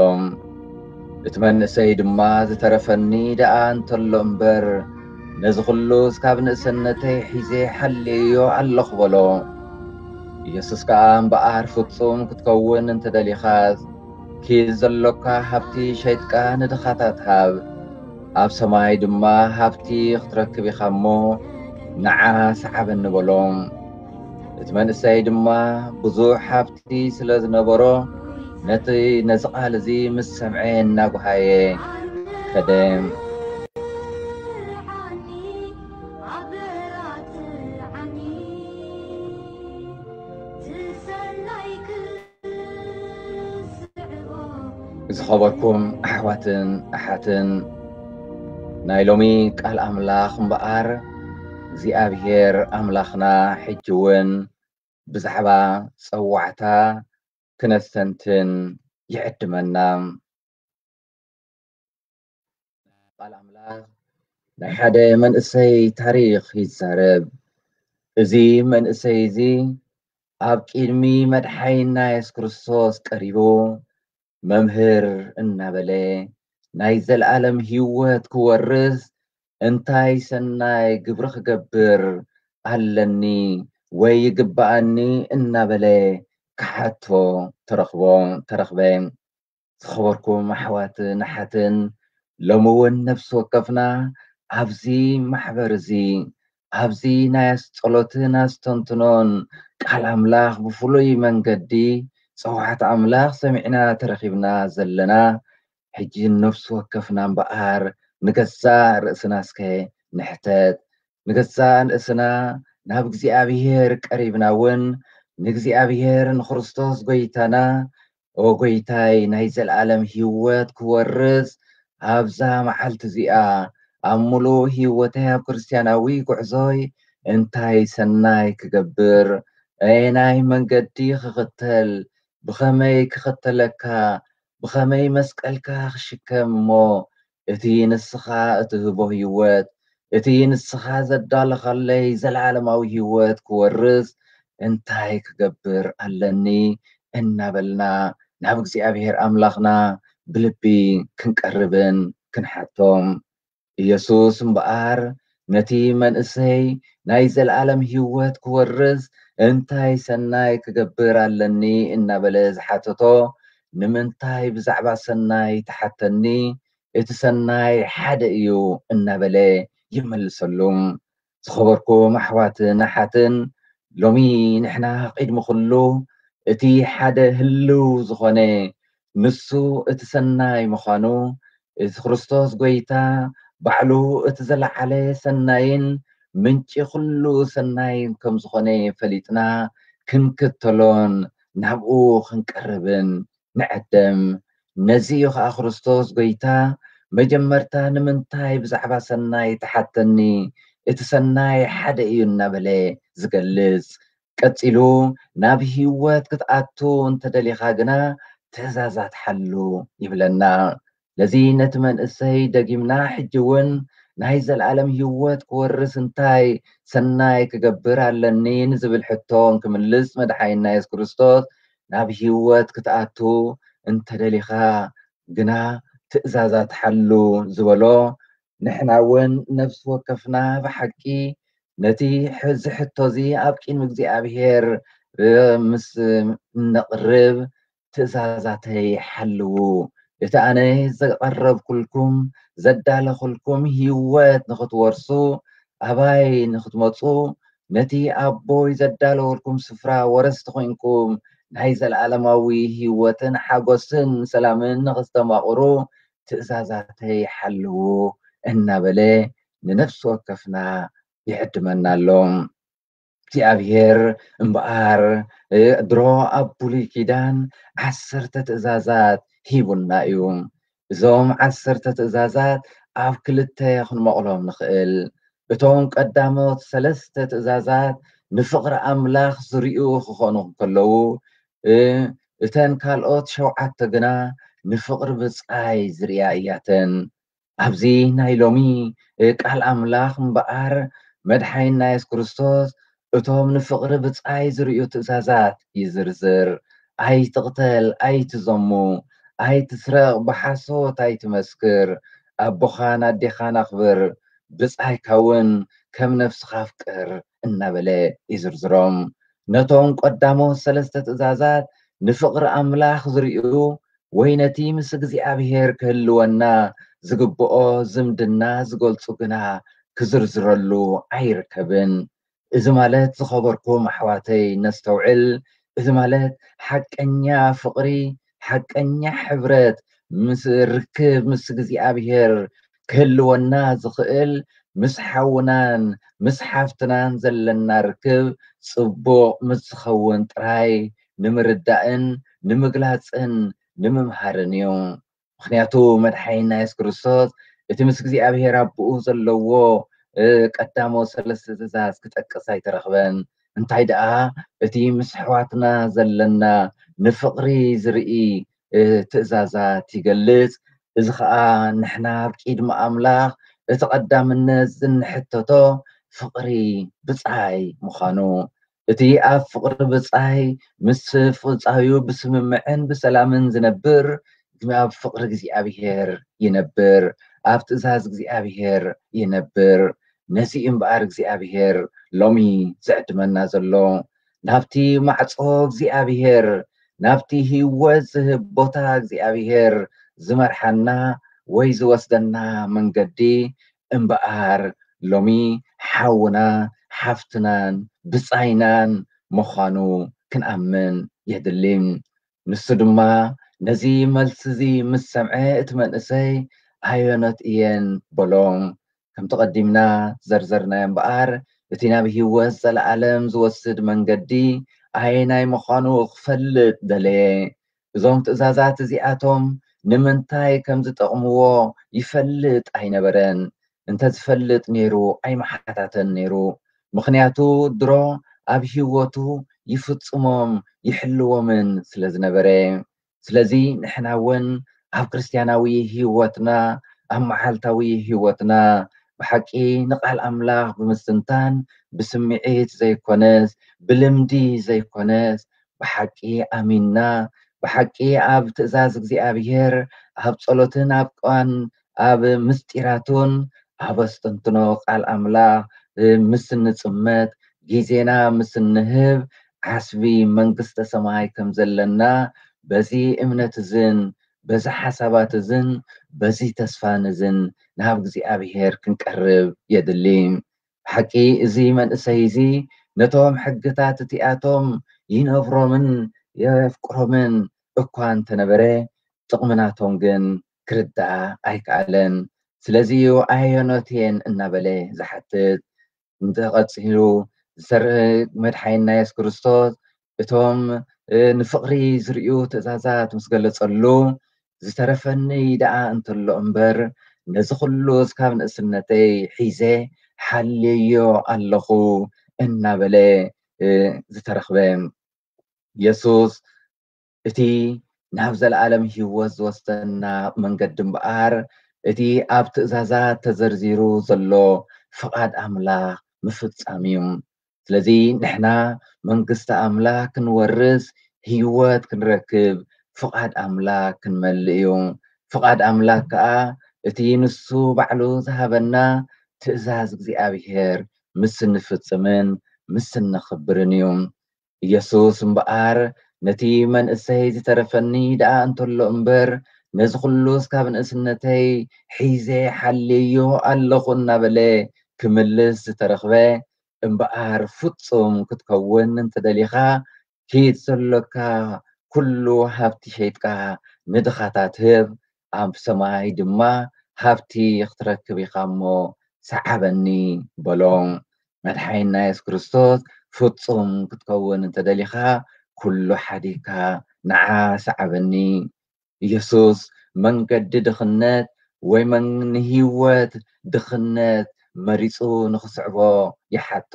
እቲ መንእሰይ ድማ፣ "ዝተረፈኒ ደኣ እንተሎ እምበር፣ ነዚ ኹሉስ ካብ ንእሰነተይ ሒዘ ሓልየዮ ኣለኹ" በሎ። ኢየሱስ ከኣ፣ "እምበኣር ፍጹም ክትከውን እንተ ደሊኻስ፣ ኪድ ዘሎካ ሃብቲ ሸይጥካ ንድኻታት ሃብ፣ ኣብ ሰማይ ድማ ሃብቲ ክትረክብ ኢኻ እሞ፣ ንዓ ሰዓበኒ" በሎ። እቲ መንእሰይ ድማ ብዙሕ ሃብቲ ስለ ዝነበሮ፣ ነቲ፣ ነዚ ቃል እዚ ምስ ሰምዐ እናጓሃየ ከደ። ዝኸበርኩም ኣሕዋትን ኣሓትን፣ ናይ ሎሚ ቃል ኣምላኽ እምበኣር፣ እግዚኣብሔር ኣምላኽና ሕጂ እውን ብዛዕባ ጸዋዕታ ክነስተንትን ይዕድመና። ቃል ኣምላኽ ናይ ሓደ መንእሰይ ታሪኽ ይዛረብ። እዚ መንእሰይ እዚ ኣብ ቅድሚ መድሓኒና የሱስ ክርስቶስ ቀሪቡ፣ "መምህር" እናበለ፣ "ናይ ዘለኣለም ህይወት ክወርስ እንታይ ሰናይ ግብሪ ክገብር ኣለኒ ወይ ይግብኣኒ?" እናበለ ክሓቶ ተረኽቦ፣ ተረኽበ። ዝኸበርኩም ኣሕዋትን ኣሓትን፣ ሎሚ እውን ነፍሲ ወከፍና ኣብዚ ማሕበር እዚ፣ ኣብዚ ናይ ኣስጸሎትን ኣስተንትኖን ቃል ኣምላኽ ብፍሉይ መንገዲ ጸዋዕታ ኣምላኽ ሰሚዕና ተረኺብና ዘለና፣ ሕጂ ነፍሲ ወከፍና እምበኣር ንገዛእ ርእስና እስከ ንሕተት። ንገዛእ ርእስና ናብ እግዚኣብሔር ቀሪብና እውን፣ ንእግዚኣብሔር ንክርስቶስ ጐይታና፣ "ኦ ጐይታይ፣ ናይ ዘለኣለም ህይወት ክወርስ ኣብዛ መዓልቲ እዚኣ፣ ኣብ ምሉእ ህይወተይ፣ ኣብ ክርስትያናዊ ጉዕዞይ እንታይ ሰናይ ክገብር? ኣየናይ መንገዲ ክኽተል? ብኸመይ ክኽተለካ? ብኸመይ መስቀልካ ክሽከም እሞ፣ እቲ ንስኻ እትህቦ ህይወት፣ እቲ ንስኻ ዘዳለኻለይ ዘለዓለማዊ ህይወት ክወርስ እንታይ ክገብር ኣለኒ?" እናበልና ናብ እግዚኣብሔር ኣምላኽና ብልቢ ክንቀርብን ክንሓቶም። ኢየሱስ እምበኣር ነቲ መንእሰይ ናይ ዘለዓለም ህይወት ክወርስ እንታይ ሰናይ ክገብር ኣለኒ እናበለ ዝሓተቶ፣ "ንምንታይ ብዛዕባ ሰናይ ትሓተኒ? እቲ ሰናይ ሓደ እዩ" እናበለ ይመልሰሉ። ዝኸበርኩም ኣሕዋትን ኣሓትን፣ ሎሚ ንሕና ቅድሚ ኩሉ እቲ ሓደ ህልው ዝኾነ ንሱ እቲ ሰናይ ምዃኑ፣ እቲ ክርስቶስ ጐይታ ባዕሉ እቲ ዘለዓለ ሰናይን ምንጪ ኩሉ ሰናይን ከም ዝኾነ ፈሊጥና ክንክተሎን ናብኡ ክንቀርብን ንዕደም። ነዚ እዩ ኸኣ ክርስቶስ ጐይታ መጀመርታ "ንምንታይ ብዛዕባ ሰናይ ትሓተኒ? እቲ ሰናይ ሓደ እዩ" እናበለ ዝገልጽ። ቀጺሉ፣ "ናብ ህይወት ክትኣቱ እንተ ደሊኻ ግና ትእዛዛት ሓሉ" ይብለና። ስለዚ ነቲ መንእሰይ ደጊምና ሕጂ እውን ናይ ዘለኣለም ህይወት ክወርስ እንታይ ሰናይ ክገብር ኣለኒ ንዝብል ሕቶ እንክምልስ መድሓኒና የሱስ ክርስቶስ፣ "ናብ ህይወት ክትኣቱ እንተ ደሊኻ ግና ትእዛዛት ሓሉ" ዝበሎ፣ ንሕና እውን ነፍሲ ወከፍና ብሓቂ ነቲ ሕ-፣ እዚ ሕቶ እዚ ኣብ ቅድሚ እግዚኣብሔር፣ እ፣ ምስ እነቕርብ፣ "ትእዛዛተይ ሓልዉ። እቲ ኣነ ዘቐረብኩልኩም፣ ዘዳለኹልኩም ህይወት ንኽትወርሱ፣ ኣባይ ንኽትመጹ፣ ነቲ ኣቦይ ዘዳለወልኩም ስፍራ ወረስቲ ኮይንኩም ናይ ዘለኣለማዊ ህይወትን ሓጎስን ሰላምን ንኽስተማቕሩ ትእዛዛተይ ሓልዉ እናበለ ንነፍሲ ወከፍና ይዕድመና ኣሎ። እግዚኣብሔር እምበኣር ድሮ ኣብ ብሉይ ኪዳን ዓሰርተ ትእዛዛት ሂቡና እዩ። እዞም ዓሰርተ ትእዛዛት ኣብ ክልተ ክንመቕሎም ንኽእል። እቶም ቀዳሞት ሰለስተ ትእዛዛት ንፍቕሪ ኣምላኽ ዝርእዩ ክኾኑ እንከለዉ፣ እተን ካልኦት ሸውዓተ ግና ንፍቕሪ ብጻይ ዝርእያ እያተን። ኣብዚ ናይ ሎሚ ቃል ኣምላኽ እምበኣር መድሓይና የሱስ ክርስቶስ እቶም ንፍቕሪ ብጻይ ዝርእዩ ትእዛዛት ይዝርዝር። ኣይትቕተል፣ ኣይትዘሙ፣ ኣይትስረቕ፣ ብሓሶት ኣይትመስክር፣ ኣቦኻን ኣዴኻን ኣኽብር፣ ብጻይካ እውን ከም ነፍስኻ ኣፍቅር እናበለ ይዝርዝሮም። ነቶም ቀዳሞት ሰለስተ ትእዛዛት ንፍቕሪ ኣምላኽ ዝርእዩ ወይ ነቲ ምስ እግዚኣብሔር ክህልወና ዝግብኦ ዝምድና ዝገልጹ ግና ክዝርዝረሉ ኣይርከብን። እዚ ማለት ዝኸበርኩም ኣሕዋተይ ነስተውዕል፣ እዚ ማለት ሓቀኛ ፍቕሪ፣ ሓቀኛ ሕብረት ምስ ርክብ ምስ እግዚኣብሔር ክህልወና ዝኽእል ምስ ሓውናን ምስ ሓፍትናን ዘለና ርክብ ጽቡቕ ምስ ዝኸውን ጥራይ ንምርዳእን ንምግላጽን ንምምሃርን እዩ። ምኽንያቱ መድሓኒና የሱስ ክርስቶስ እቲ ምስ እግዚኣብሔር ኣቦኡ ዘለዎ ቀዳሞ ሰለስተ ትእዛዝ ክጠቅስ ኣይተረኽበን። እንታይ ደኣ እቲ ምስ ኣሕዋትና ዘለና ንፍቕሪ ዝርኢ ትእዛዛት ይገልጽ። እዚ ኸኣ ንሕና ኣብ ቅድሚ ኣምላኽ እቲ ቀዳምነት ዝንሕተቶ ፍቕሪ ብጻይ ምዃኑ፣ እቲ ኣብ ፍቕሪ ብጻይ ምስ ብጻዩ ብስምምዕን ብሰላምን ዝነብር ኣብ ፍቕሪ እግዚኣብሔር ይነብር፣ ኣብ ትእዛዝ እግዚኣብሔር ይነብር። ነዚ እምበኣር እግዚኣብሔር ሎሚ ዝዕድመና ዘሎ ናብቲ ማዕጾ እግዚኣብሔር ናብቲ ህይወት ዝህብ ቦታ እግዚኣብሔር ዝመርሓና ወይ ዝወስደና መንገዲ እምበኣር ሎሚ ሓውና ሓፍትናን ብጻይናን ምዃኑ ክንኣምን የድሊ። ንሱ ድማ ነዚ መልሲ እዚ ምስ ሰምዐ እቲ መንእሰይ ኣየኖት እየን በሎ። ከምቲ ቀዲምና ዘርዘርናዮ እምበኣር እቲ ናብ ህይወት ዘለኣለም ዝወስድ መንገዲ ኣየናይ ምዃኑ ክፈልጥ ደለየ። እዞም ትእዛዛት እዚኣቶም ንምንታይ ከም ዝጠቕምዎ ይፈልጥ ኣይነበረን። እንተዝፈልጥ ነይሩ ኣይምሓታተን ነይሩ። ምኽንያቱ ድሮ ኣብ ህይወቱ ይፍጽሞም ይሕልዎምን ስለ ዝነበረ። ስለዚ ንሕና እውን ኣብ ክርስትያናዊ ህይወትና ኣብ መዓልታዊ ህይወትና ብሓቂ ንቓል ኣምላኽ ብምስትንታን ብስምዒት ዘይኮነስ ብልምዲ ዘይኮነስ ብሓቂ ኣሚንና ብሓቂ ኣብ ትእዛዝ እግዚኣብሔር ኣብ ጸሎትን ኣብ ቃን ኣብ ምስጢራቱን ኣብ ኣስተንትኖ ቃል ኣምላኽ ምስ እንጽመት ግዜና ምስ እንህብ ዓስቢ መንግስተ ሰማይ ከም ዘለና በዚ እምነት እዝን በዚ ሓሳባት እዝን በዚ ተስፋን እዝን ናብ እግዚኣብሔር ክንቀርብ የድሊ። ብሓቂ እዚ መንእሰይ እዚ ነቶም ሕግታት እቲኣቶም ይነብሮምን የፍቅሮምን እኳ እንተነበረ ጥቕሚ ናቶም ግን ክርዳእ ኣይከኣለን። ስለዚ እዩ ኣየኖት እየን እናበለ ዝሓትት። እንተቐጺሉ ዝሰርህ መድሓኒና የሱስ ክርስቶስ እቶም ንፍቕሪ ዝርእዩ ትእዛዛት ምስ ገለጸሉ ዝተረፈኒ ደኣ እንተሎ እምበር ነዚ ኩሉ እስካብ ንእስነተይ ሒዘ ሓልየዮ ኣለኹ እናበለ ዝተረኽበ የሱስ እቲ ናብ ዘለኣለም ህይወት ዝወስደና መንገዲ እምበኣር እቲ ኣብ ትእዛዛት ተዘርዚሩ ዘሎ ፍቓድ ኣምላኽ ምፍጻም እዩ። ስለዚ ንሕና መንግስቲ ኣምላኽ ክንወርስ ህይወት ክንረክብ ፍቓድ ኣምላኽ ክንመልእ እዩ። ፍቓድ ኣምላኽ ከኣ እቲ ንሱ ባዕሉ ዝሃበና ትእዛዝ እግዚኣብሔር ምስ እንፍጽምን ምስ እነኽብርን እዩ። ኢየሱስ እምበኣር ነቲ መንእሰይ ዝተረፈኒ ደኣ እንተሎ እምበር ነዚ ኩሉ እስካብ ንእስነተይ ሒዘ ሓልየዮ ኣለኹ እናበለ ክምልስ ዝተረኽበ እምበኣር ፍጹም ክትከውን እንተደሊኻ ኪድ ዘሎካ ኩሉ ሃብቲ ሸይጥካ ንድኻታት ህብ፣ ኣብ ሰማይ ድማ ሃብቲ ክትረክብ ኢኻ እሞ ሰዓበኒ በሎ። መድሓኒና የሱስ ክርስቶስ ፍጹም ክትከውን እንተደሊኻ ኩሉ ሓዲግካ ንዓ ሰዓበኒ። ኢየሱስ መንገዲ ድኽነት ወይ መን-፣ ንህይወት ድኽነት መሪጹ ንኽስዕቦ ይሓቶ።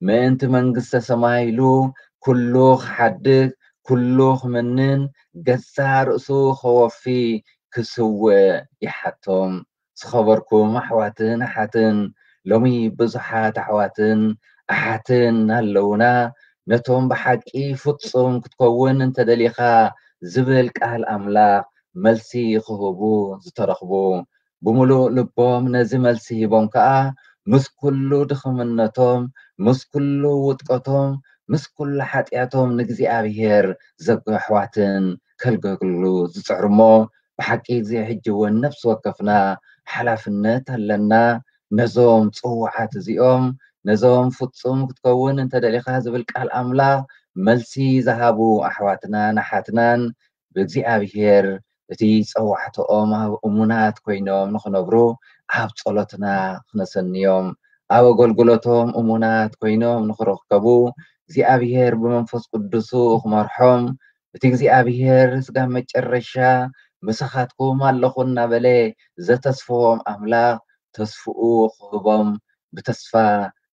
ምእንቲ መንግስተ ሰማይ ኢሉ ኩሉ ክሓድግ፣ ኩሉ ክምንን፣ ገዛእ ርእሱ ከወፊ ክስውእ ይሓቶ። ዝኸበርኩም ኣሕዋትን ኣሓትን፣ ሎሚ ብዙሓት ኣሕዋትን ኣሓትን ኣለውና። ነቶም ብሓቂ ፍጹም ክትከውን እንተደሊኻ ዝብል ቃል ኣምላኽ መልሲ ክህቡ ዝተረኽቡ፣ ብምሉእ ልቦም ነዚ መልሲ ሂቦም ከኣ ምስ ኩሉ ድኽምነቶም፣ ምስ ኩሉ ውድቀቶም፣ ምስ ኩሉ ሓጢኣቶም ንእግዚኣብሔር ዘጉ ኣሕዋትን ከልገግሉ ዝጽዕሩ እሞ፣ ብሓቂ እዚ ሕጂ እውን ነፍሲ ወከፍና ሓላፍነት ኣለና። ነዞም ጽዋዓት እዚኦም፣ ነዞም ፍጹም ክትከውን እንተደሊኻ ዝብል ቃል ኣምላኽ መልሲ ዝሃቡ ኣሕዋትናን ኣሓትናን ብእግዚኣብሔር እቲ ጸዋዕተኦም ኣብ እሙናት ኮይኖም ንኽነብሩ ኣብ ጸሎትና ክነሰንዮም፣ ኣብ ኣገልግሎቶም እሙናት ኮይኖም ንኽረከቡ እግዚኣብሔር ብመንፈስ ቅዱሱ ክመርሖም፣ እቲ እግዚኣብሔር ስጋብ መጨረሻ ምሳኻትኩም ኣለኹ እናበለ ዘተስፈዎም ኣምላኽ ተስፍኡ ክህቦም፣ ብተስፋ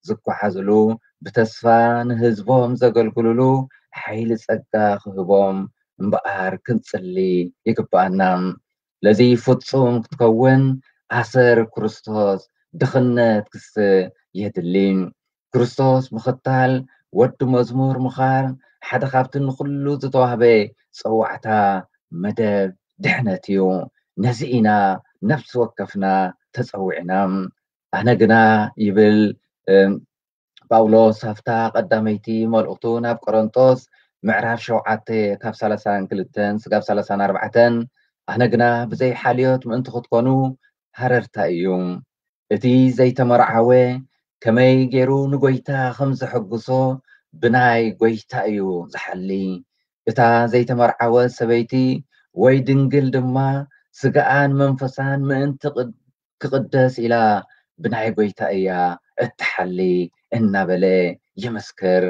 ዝጓዓዝሉ፣ ብተስፋ ንህዝቦም ዘገልግልሉ ሓይሊ ጸጋ ክህቦም እምበኣር ክንጽሊ ይግብኣና። ስለዚ ፍጹም ክትከውን ኣሰር ክርስቶስ ድኽነት ክስ የድሊ። ክርስቶስ ምኽታል፣ ወዲ መዝሙር ምዃን፣ ሓደ ካብቲ ንኹሉ ዝተዋህበ ጸዋዕታ መደብ ድሕነት እዩ። ነዚ ኢና ነፍሲ ወከፍና ተጸዊዕና። ኣነ ግና ይብል፣ እም፣ ጳውሎስ ኣብታ ቀዳመይቲ መልእኽቱ ናብ ቆሮንጦስ ምዕራፍ ሸውዓተ ካብ ሰላሳን ክልተን ስጋብ ሰላሳን ኣርባዕተን፣ ኣነ ግና ብዘይ ሓልዮት ምእንቲ ክትኮኑ ሃረርታ እዩ። እቲ ዘይተመርዓወ ከመይ ገይሩ ንጎይታ ከም ዘሐጉሶ ብናይ ጎይታ እዩ ዝሓሊ። እታ ዘይተመርዓወት ሰበይቲ ወይ ድንግል ድማ ስጋኣን መንፈሳን ምእንቲ ቅድ-፣ ክቕደስ ኢላ ብናይ ጎይታ እያ እትሓሊ እናበለ ይምስክር።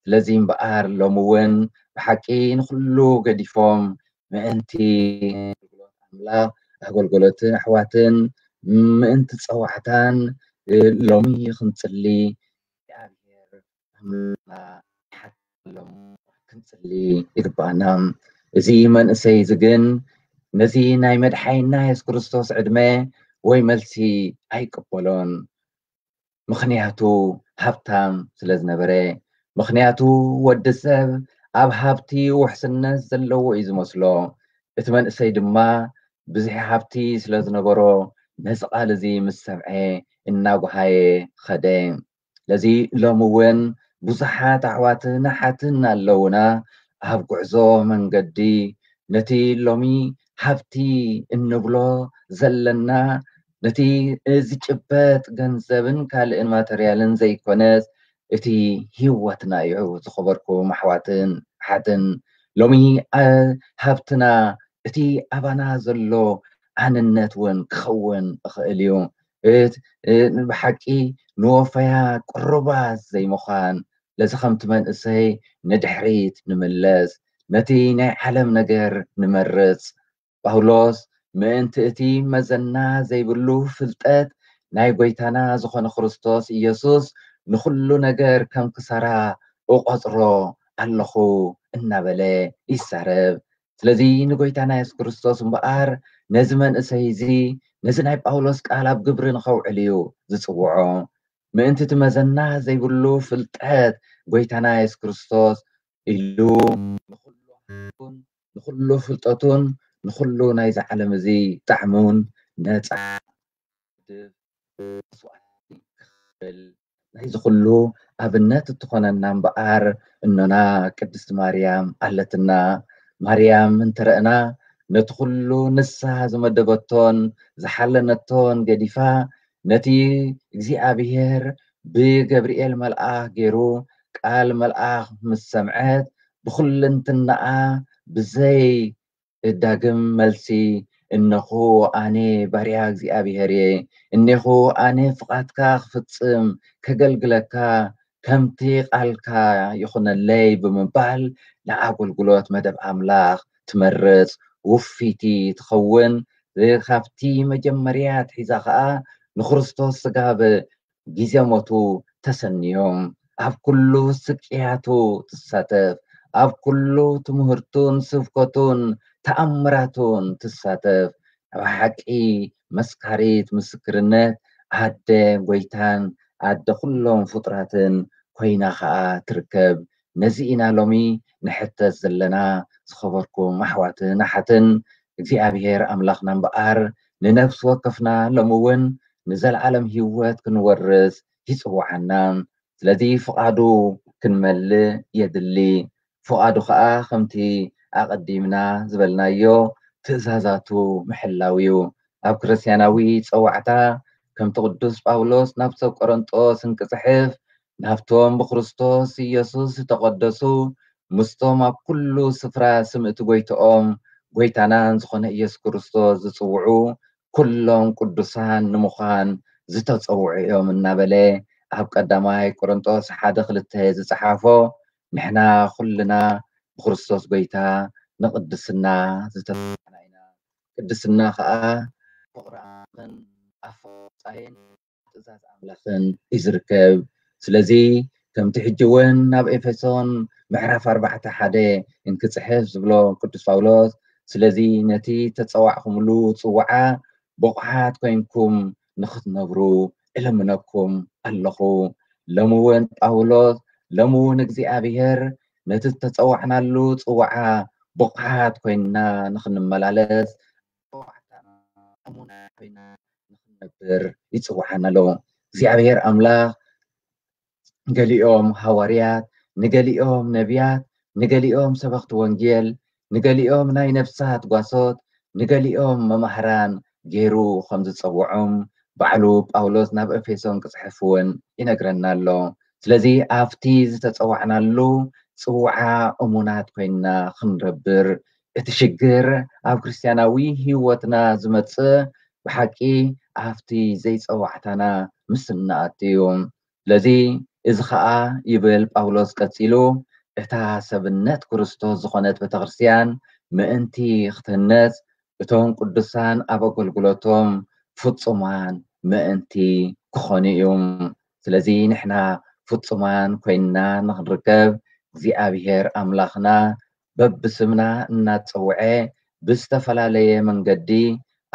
ስለዚ እምበኣር ሎሚ እውን ብሓቂ ንኹሉ ገዲፎም ምእንቲ ኣገልግሎት ኣምላኽ ኣገልግሎትን ኣሕዋትን ምእንቲ ጸዋዕታን ሎሚ ክንጽሊ እግዚኣብሔር ኣምላኽና ይሓተሎም ክንጽሊ ይግባኣና። እዚ መንእሰይ እዚ ግን ነዚ ናይ መድሓኒና የሱስ ክርስቶስ ዕድመ ወይ መልሲ ኣይቅበሎን። ምኽንያቱ ሃብታም ስለ ዝነበረ። ምኽንያቱ ወዲ ሰብ ኣብ ሃብቲ ውሕስነት ዘለዎ እዩ ዝመስሎ። እቲ መንእሰይ ድማ ብዙሕ ሃብቲ ስለ ዝነበሮ ነዚ ቃል እዚ ምስ ሰምዐ እናጓሃየ ኸደ። ስለዚ ሎሚ እውን ብዙሓት ኣሕዋትን ኣሓትን ኣለውና ኣብ ጉዕዞ መንገዲ ነቲ ሎሚ ሃብቲ እንብሎ ዘለና ነቲ ዝጭበጥ ገንዘብን ካልእን ማተርያልን ዘይኮነስ እቲ ህይወትና እዩ። ዝኸበርኩም ኣሕዋትን ኣሓትን ሎሚ፣ አ፣ ሃብትና እቲ ኣባና ዘሎ ኣንነት እውን ክኸውን ይኽእል እዩ። እት-፣ እ-፣ ብሓቂ ንወፈያ ቅሩባት ዘይምዃን፣ ለዚ ከምቲ መንእሰይ ንድሕሪት ንምለስ፣ ነቲ ናይ ዓለም ነገር ንመርጽ። ጳውሎስ ምእንቲ እቲ መዘና ዘይብሉ ፍልጠት ናይ ጎይታና ዝኾነ ክርስቶስ ኢየሱስ ንኹሉ ነገር ከም ክሳራ እቖጽሮ ኣለኹ እናበለ ይዛረብ። ስለዚ ንጎይታና የሱስ ክርስቶስ እምበኣር ነዚ መንእሰይ እዚ ነዚ ናይ ጳውሎስ ቃል ኣብ ግብሪ ንኸውዕል እዩ ዝጽውዖ። ምእንቲ እቲ መዘና ዘይብሉ ፍልጠት ጎይታና የሱስ ክርስቶስ ኢሉ ንኹሉ ሃብቱን ንኹሉ ፍልጠቱን ንኹሉ ናይዚ ዓለም እዚ ጣዕሙን ነጻ መስዋእቲ ክኽፈል ናይዚ ኩሉ ኣብነት እትኾነና እምበኣር እኖና ቅድስቲ ማርያም ኣለትና። ማርያም እንተረእና ነቲ ኩሉ ንሳ ዝመደበቶን ዝሓለነቶን ገዲፋ ነቲ እግዚኣብሔር ብገብርኤል መልኣኽ ገይሩ ቃል መልኣኽ ምስ ሰምዐት ብኹልንትናኣ ብዘይ እዳግም መልሲ፣ እነኹ ኣነ ባርያ እግዚኣብሔር እየ፣ እኔኹ ኣነ ፍቓድካ ክፍጽም ከገልግለካ ከምቲ ቃልካ ይኹነለይ ብምባል ንኣገልግሎት መደብ ኣምላኽ ትመርጽ ውፊቲ ትኸውን። ካብቲ መጀመርያ ኣትሒዛ ኸኣ ንክርስቶስ ስጋብ ግዜ ሞቱ ተሰንዮም ኣብ ኩሉ ስቅያቱ ትሳተፍ፣ ኣብ ኩሉ ትምህርቱን ስብከቱን ተኣምራቱን ትሳተፍ። ብሓቂ መስካሪት ምስክርነት ኣደ ጎይታን ኣደ ኩሎም ፍጡራትን ኮይና ኸኣ ትርከብ። ነዚ ኢና ሎሚ ንሕተት ዘለና። ዝኸበርኩም ኣሕዋትን ኣሓትን እግዚኣብሔር ኣምላኽና እምበኣር ንነፍሲ ወከፍና ሎሚ እውን ንዘለዓለም ህይወት ክንወርስ ይጽውዓና። ስለዚ ፍቓዱ ክንመልእ የድሊ። ፍቓዱ ኸኣ ከምቲ ኣቐዲምና ዝበልናዮ ትእዛዛቱ ምሕላው እዩ። ኣብ ክርስትያናዊ ጸዋዕታ ከምቲ ቅዱስ ጳውሎስ ናብ ሰብ ቆረንጦስ እንክጽሕፍ ናብቶም ብክርስቶስ ኢየሱስ ዝተቐደሱ ምስቶም ኣብ ኩሉ ስፍራ ስም እቲ ጎይትኦም ጎይታናን ዝኾነ ኢየሱስ ክርስቶስ ዝጽውዑ ኩሎም ቅዱሳን ንምዃን ዝተጸውዑ እዮም እናበለ ኣብ ቀዳማይ ቆሮንጦስ ሓደ ክልተ ዝጸሓፎ ንሕና ኩልና ብክርስቶስ ጎይታ ንቅድስና ዝተፈና ኢና። ቅድስና ከዓ ፍቅሪ ኣምላኽን ኣፈፃይን ትእዛዝ ኣምላኽን እዩ ዝርከብ። ስለዚ ከምቲ ሕጂ እውን ናብ ኤፌሶን ምዕራፍ ኣርባዕተ ሓደ እንክፅሕፍ ዝብሎ ቅዱስ ጳውሎስ፣ ስለዚ ነቲ ተፀዋዕኹምሉ ፅውዓ ብቑዓት ኮይንኩም ንኽትነብሩ እልምነኩም ኣለኹ። ሎሚ እውን ጳውሎስ፣ ሎሚ እውን እግዚኣብሔር ነቲ ዝተፀዋዕናሉ ፅውዓ ብቑዓት ኮይንና ንኽንመላለስ፣ ፀዋዕታና እሙናት ኮይና ንኽንነብር ይፅውዓና ኣሎ። እግዚኣብሔር ኣምላኽ ንገሊኦም ሃዋርያት፣ ንገሊኦም ነቢያት፣ ንገሊኦም ሰበኽቲ ወንጌል፣ ንገሊኦም ናይ ነፍሳት ጓሶት፣ ንገሊኦም መማህራን ገይሩ ከም ዝጸውዖም ባዕሉ ጳውሎስ ናብ ኤፌሶን ክጽሕፍ እውን ይነግረና ኣሎ። ስለዚ ኣብቲ ዝተጸዋዕናሉ ጽውዓ እሙናት ኮይንና ክንረብር፣ እቲ ሽግር ኣብ ክርስትያናዊ ህይወትና ዝመጽእ ብሓቂ ኣብቲ ዘይጸዋዕታና ምስ እንኣቱ እዩ። ስለዚ እዚ ኸኣ ይብል ጳውሎስ ቀጺሉ፣ እታ ሰብነት ክርስቶስ ዝኾነት ቤተክርስትያን ምእንቲ ክትህነጽ፣ እቶም ቅዱሳን ኣብ ኣገልግሎቶም ፍጹማን ምእንቲ ክኾኑ እዮም። ስለዚ ንሕና ፍጹማን ኮይንና ንኽንርከብ እግዚኣብሔር ኣምላኽና በብስምና እናጸውዐ ብዝተፈላለየ መንገዲ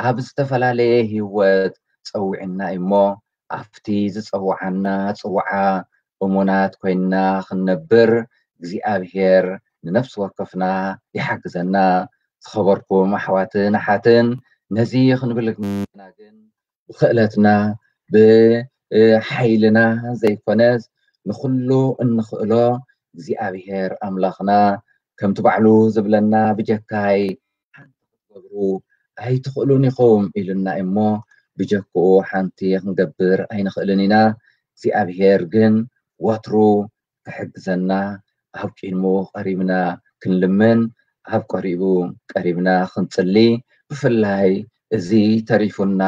ኣብ ዝተፈላለየ ህይወት ጸዊዕና እሞ ኣብቲ ዝጸውዓና ጽውዓ እሙናት ኮይንና ክንነብር እግዚኣብሔር ንነፍሲ ወከፍና ይሓግዘና። ዝኸበርኩም ኣሕዋትን ኣሓትን ነዚ ክንብል ግን ብክእለትና ብሓይልና ዘይኮነስ ንኹሉ እንኽእሎ እግዚኣብሔር ኣምላኽና ከምቲ ባዕሉ ዝብለና ብጀካይ ሓንቲ ክትገብሩ ኣይትኽእሉን ኢኹም ኢሉና እሞ ብጀክኡ ሓንቲ ክንገብር ኣይንኽእልን ኢና። እግዚኣብሔር ግን ወትሩ ክሕግዘና ኣብ ቅድሙ ቀሪብና ክንልምን ኣብ ቀሪቡ ቀሪብና ክንጽሊ ብፍላይ እዚ ተሪፉና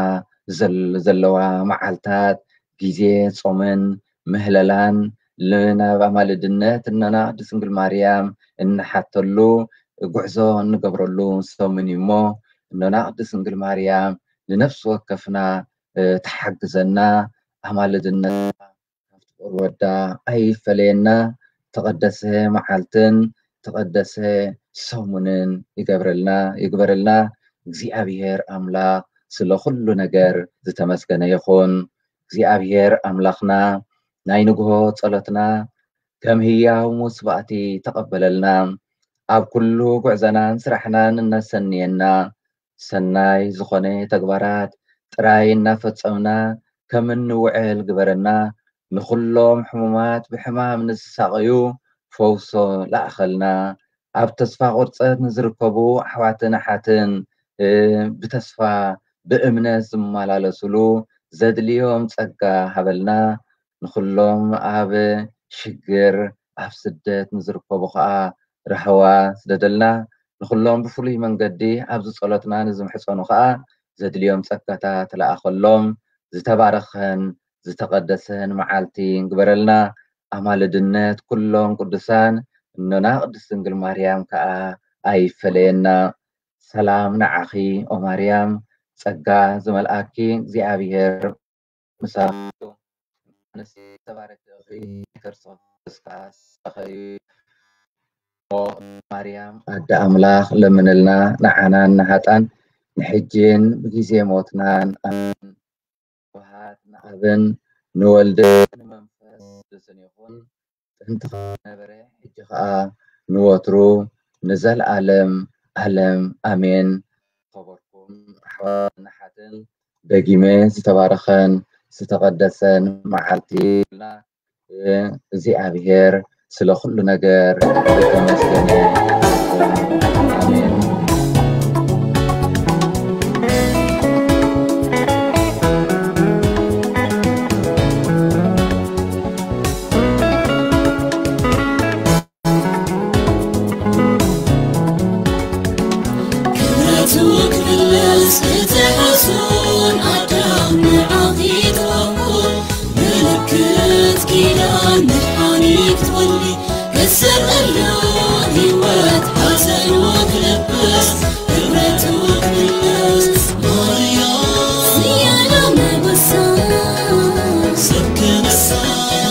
ዘለዋ መዓልታት ግዜ ጾምን ምህለላን ናብ ኣማልድነት እኖና ቅድስት ድንግል ማርያም እንሓተሉ ጉዕዞ እንገብረሉ ሰሙን እዩ እሞ እኖና ቅድስት ድንግል ማርያም ንነፍሲ ወከፍና ትሓግዘና ኣማልድነታ ካብቲ ፍቕሪ ወዳ ኣይፈለየና። ተቐደሰ መዓልትን ተቐደሰ ሰሙንን ይገብረልና ይግበረልና። እግዚኣብሔር ኣምላኽ ስለ ኩሉ ነገር ዝተመስገነ ይኹን። እግዚኣብሔር ኣምላኽና ናይ ንግሆ ጸሎትና ከም ህያው መስዋዕቲ ተቐበለልና። ኣብ ኩሉ ጉዕዘናን ስራሕናን እናሰንየና ሰናይ ዝኾነ ተግባራት ጥራይ እናፈጸምና ከም እንውዕል ግበረና። ንኹሎም ሕሙማት ብሕማም ንዝሳቐዩ ፈውሶ ለኣኸልና። ኣብ ተስፋ ቁርጸት ንዝርከቡ ኣሕዋትን ኣሓትን ብተስፋ ብእምነት ዝመላለስሉ ዘድልዮም ጸጋ ሃበልና። ንኹሎም ኣብ ሽግር ኣብ ስደት ንዝርከቡ ኸኣ ራህዋ ስደደልና። ንኹሎም ብፍሉይ መንገዲ ኣብዚ ጸሎትና ንዝምሕጸኑ ከኣ ዘድልዮም ጸጋታት ተለኣኸሎም። ዝተባረኸን ዝተቐደሰን መዓልቲ ግበረልና። ኣማልድነት ኩሎም ቅዱሳን እኖና ቅድስት ድንግል ማርያም ከኣ ኣይፈለየና። ሰላም ንዓኺ ኦ ማርያም፣ ጸጋ ዝመልኣኪ እግዚኣብሔር ምሳኺ፣ ኣንስቲ ዝተባረኽቲ ኢኺ፣ ከርሲ ከኣ ፍሬ ከርሲ ዝተባረኸ እዩ። ኦ ማርያም ኣደ ኣምላኽ ለምንልና፣ ንዓናን ንሃጣን፣ ንሕጅን ብጊዜ ሞትናን። ኣሜን። ስብሐት ንኣብን ንወልድን ንመንፈስ ቅዱስን ይኹን፣ ጥንቲ ነበረ፣ ሕጂ ኸኣ ንወትሩ ንዘለኣለም ኣለም ኣሜን። ኸበርኩም ኣሕዋትን ኣሓትን፣ ደጊመ ዝተባረኸን ዝተቐደሰን መዓልቲ ይሁንልና። እግዚኣብሔር ስለ ኩሉ ነገር ዝተመስገነ ይሁን። ኣሜን። ክብረቱ ክምለስ እቲ ሕሱን ኣዳም ንዓኺ ተዋህቦ፣ ምልክት ኪዳን መድሓኒት ትወልዲ፣ ክስር እሉ ህይወት ሓዘን ወክለብስ፣ ክብረቱ ክምለስ ማርያም፣ ዝያዳ መበሳ፣ ሰብ ክነሳ፣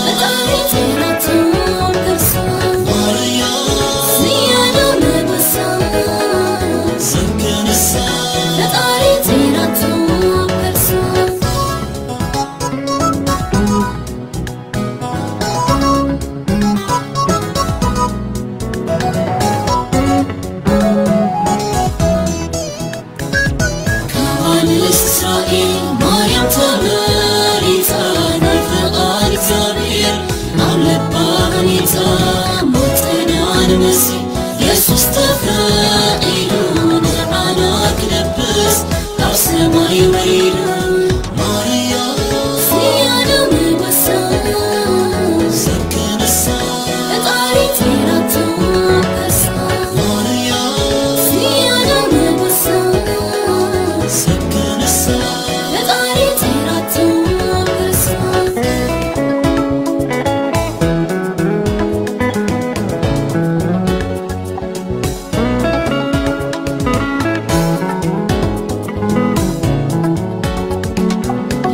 ፈጣሪ ጸይራቶ ከርሳ፣ ማርያም፣ ዝያዳ መበሳ፣ ሰብ ክነሳ፣ ፈጣሪ ጸይራቶ ከርሳ። ካብ ኣንስቲ እስራኤል ማርያም ተመሪጻ፣ ናይ ፍቓድ እግዚኣብሔር ኣብ ልባ ሃኒጻ፣ ሞት ጽንዓን መሲሕ የሱስ ተፈቒዱ ንዓና ክለብስ ካብ ሰማይ ወሪዱ። ማርያም ዝያዳ መበሳ፣ ሰብ ክነሳ፣ ፈጣሪ ጸይራቶ ከርሳ። ማርያም ዝያዳ መበሳ፣ ሰብ ክነሳ፣ ፈጣሪ ጸይራቶ ከርሳ።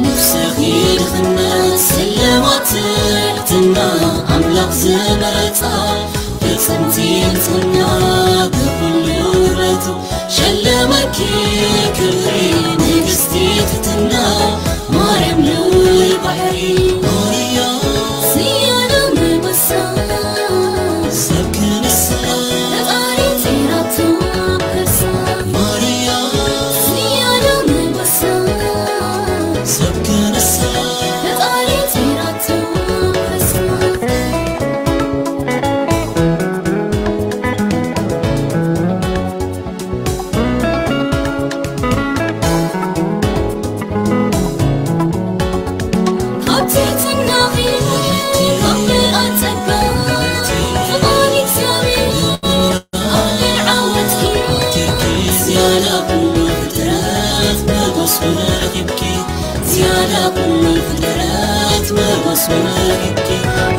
ነፍስኺ ድኽነት ስልማት ትሕትና ኣምላኽ ዝመረጻ ፍጽምቲ ንጽህና ብኹሉ ውበቱ ሸለመኪ ክብሪ ንግስቲ ትሕትና ማርያም ልዑል ባሕሪ ማርያም ዝያዳ መበሳ ሰብ ክነሳ ፈጣሪ ጸይራቶ ከርሳ ማርያም ዝያዳ መበሳ ሰብ ክነሳ ፈጣሪ ጸይራቶ ከርሳ ካብ ትሕትናኺ፣ ካብ ምልኣት ጸጋ፣ ፍቓድ እግዚኣብሔር፣ ኣብ ልዕሊ ዓወትኪ፣ ዝያዳ ኩሉ ፍጥረት መጎስን ረኺብኪ፣ ዝያዳ ኩሉ ፍጥረት መጎስን ረኺብኪ፣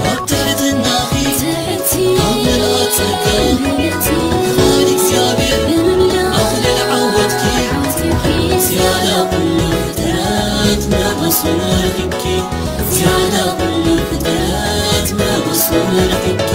ኣብ ትሕትናኺ፣ ትሕቲ፣ ካብ ምልኣት ጸጋ፣ ምልእቲ፣ ፍቓድ እግዚኣብሔር፣ ብምምላእ፣ ኣብ ልዕሊ ዓወትኪ፣ ዓወትኪ፣ ዝያዳ ኩሉ ፍጥረት መጎስን ረኺብኪ፣ ዝያዳ ኩሉ ፍጥረት መጎስን ረኺብኪ።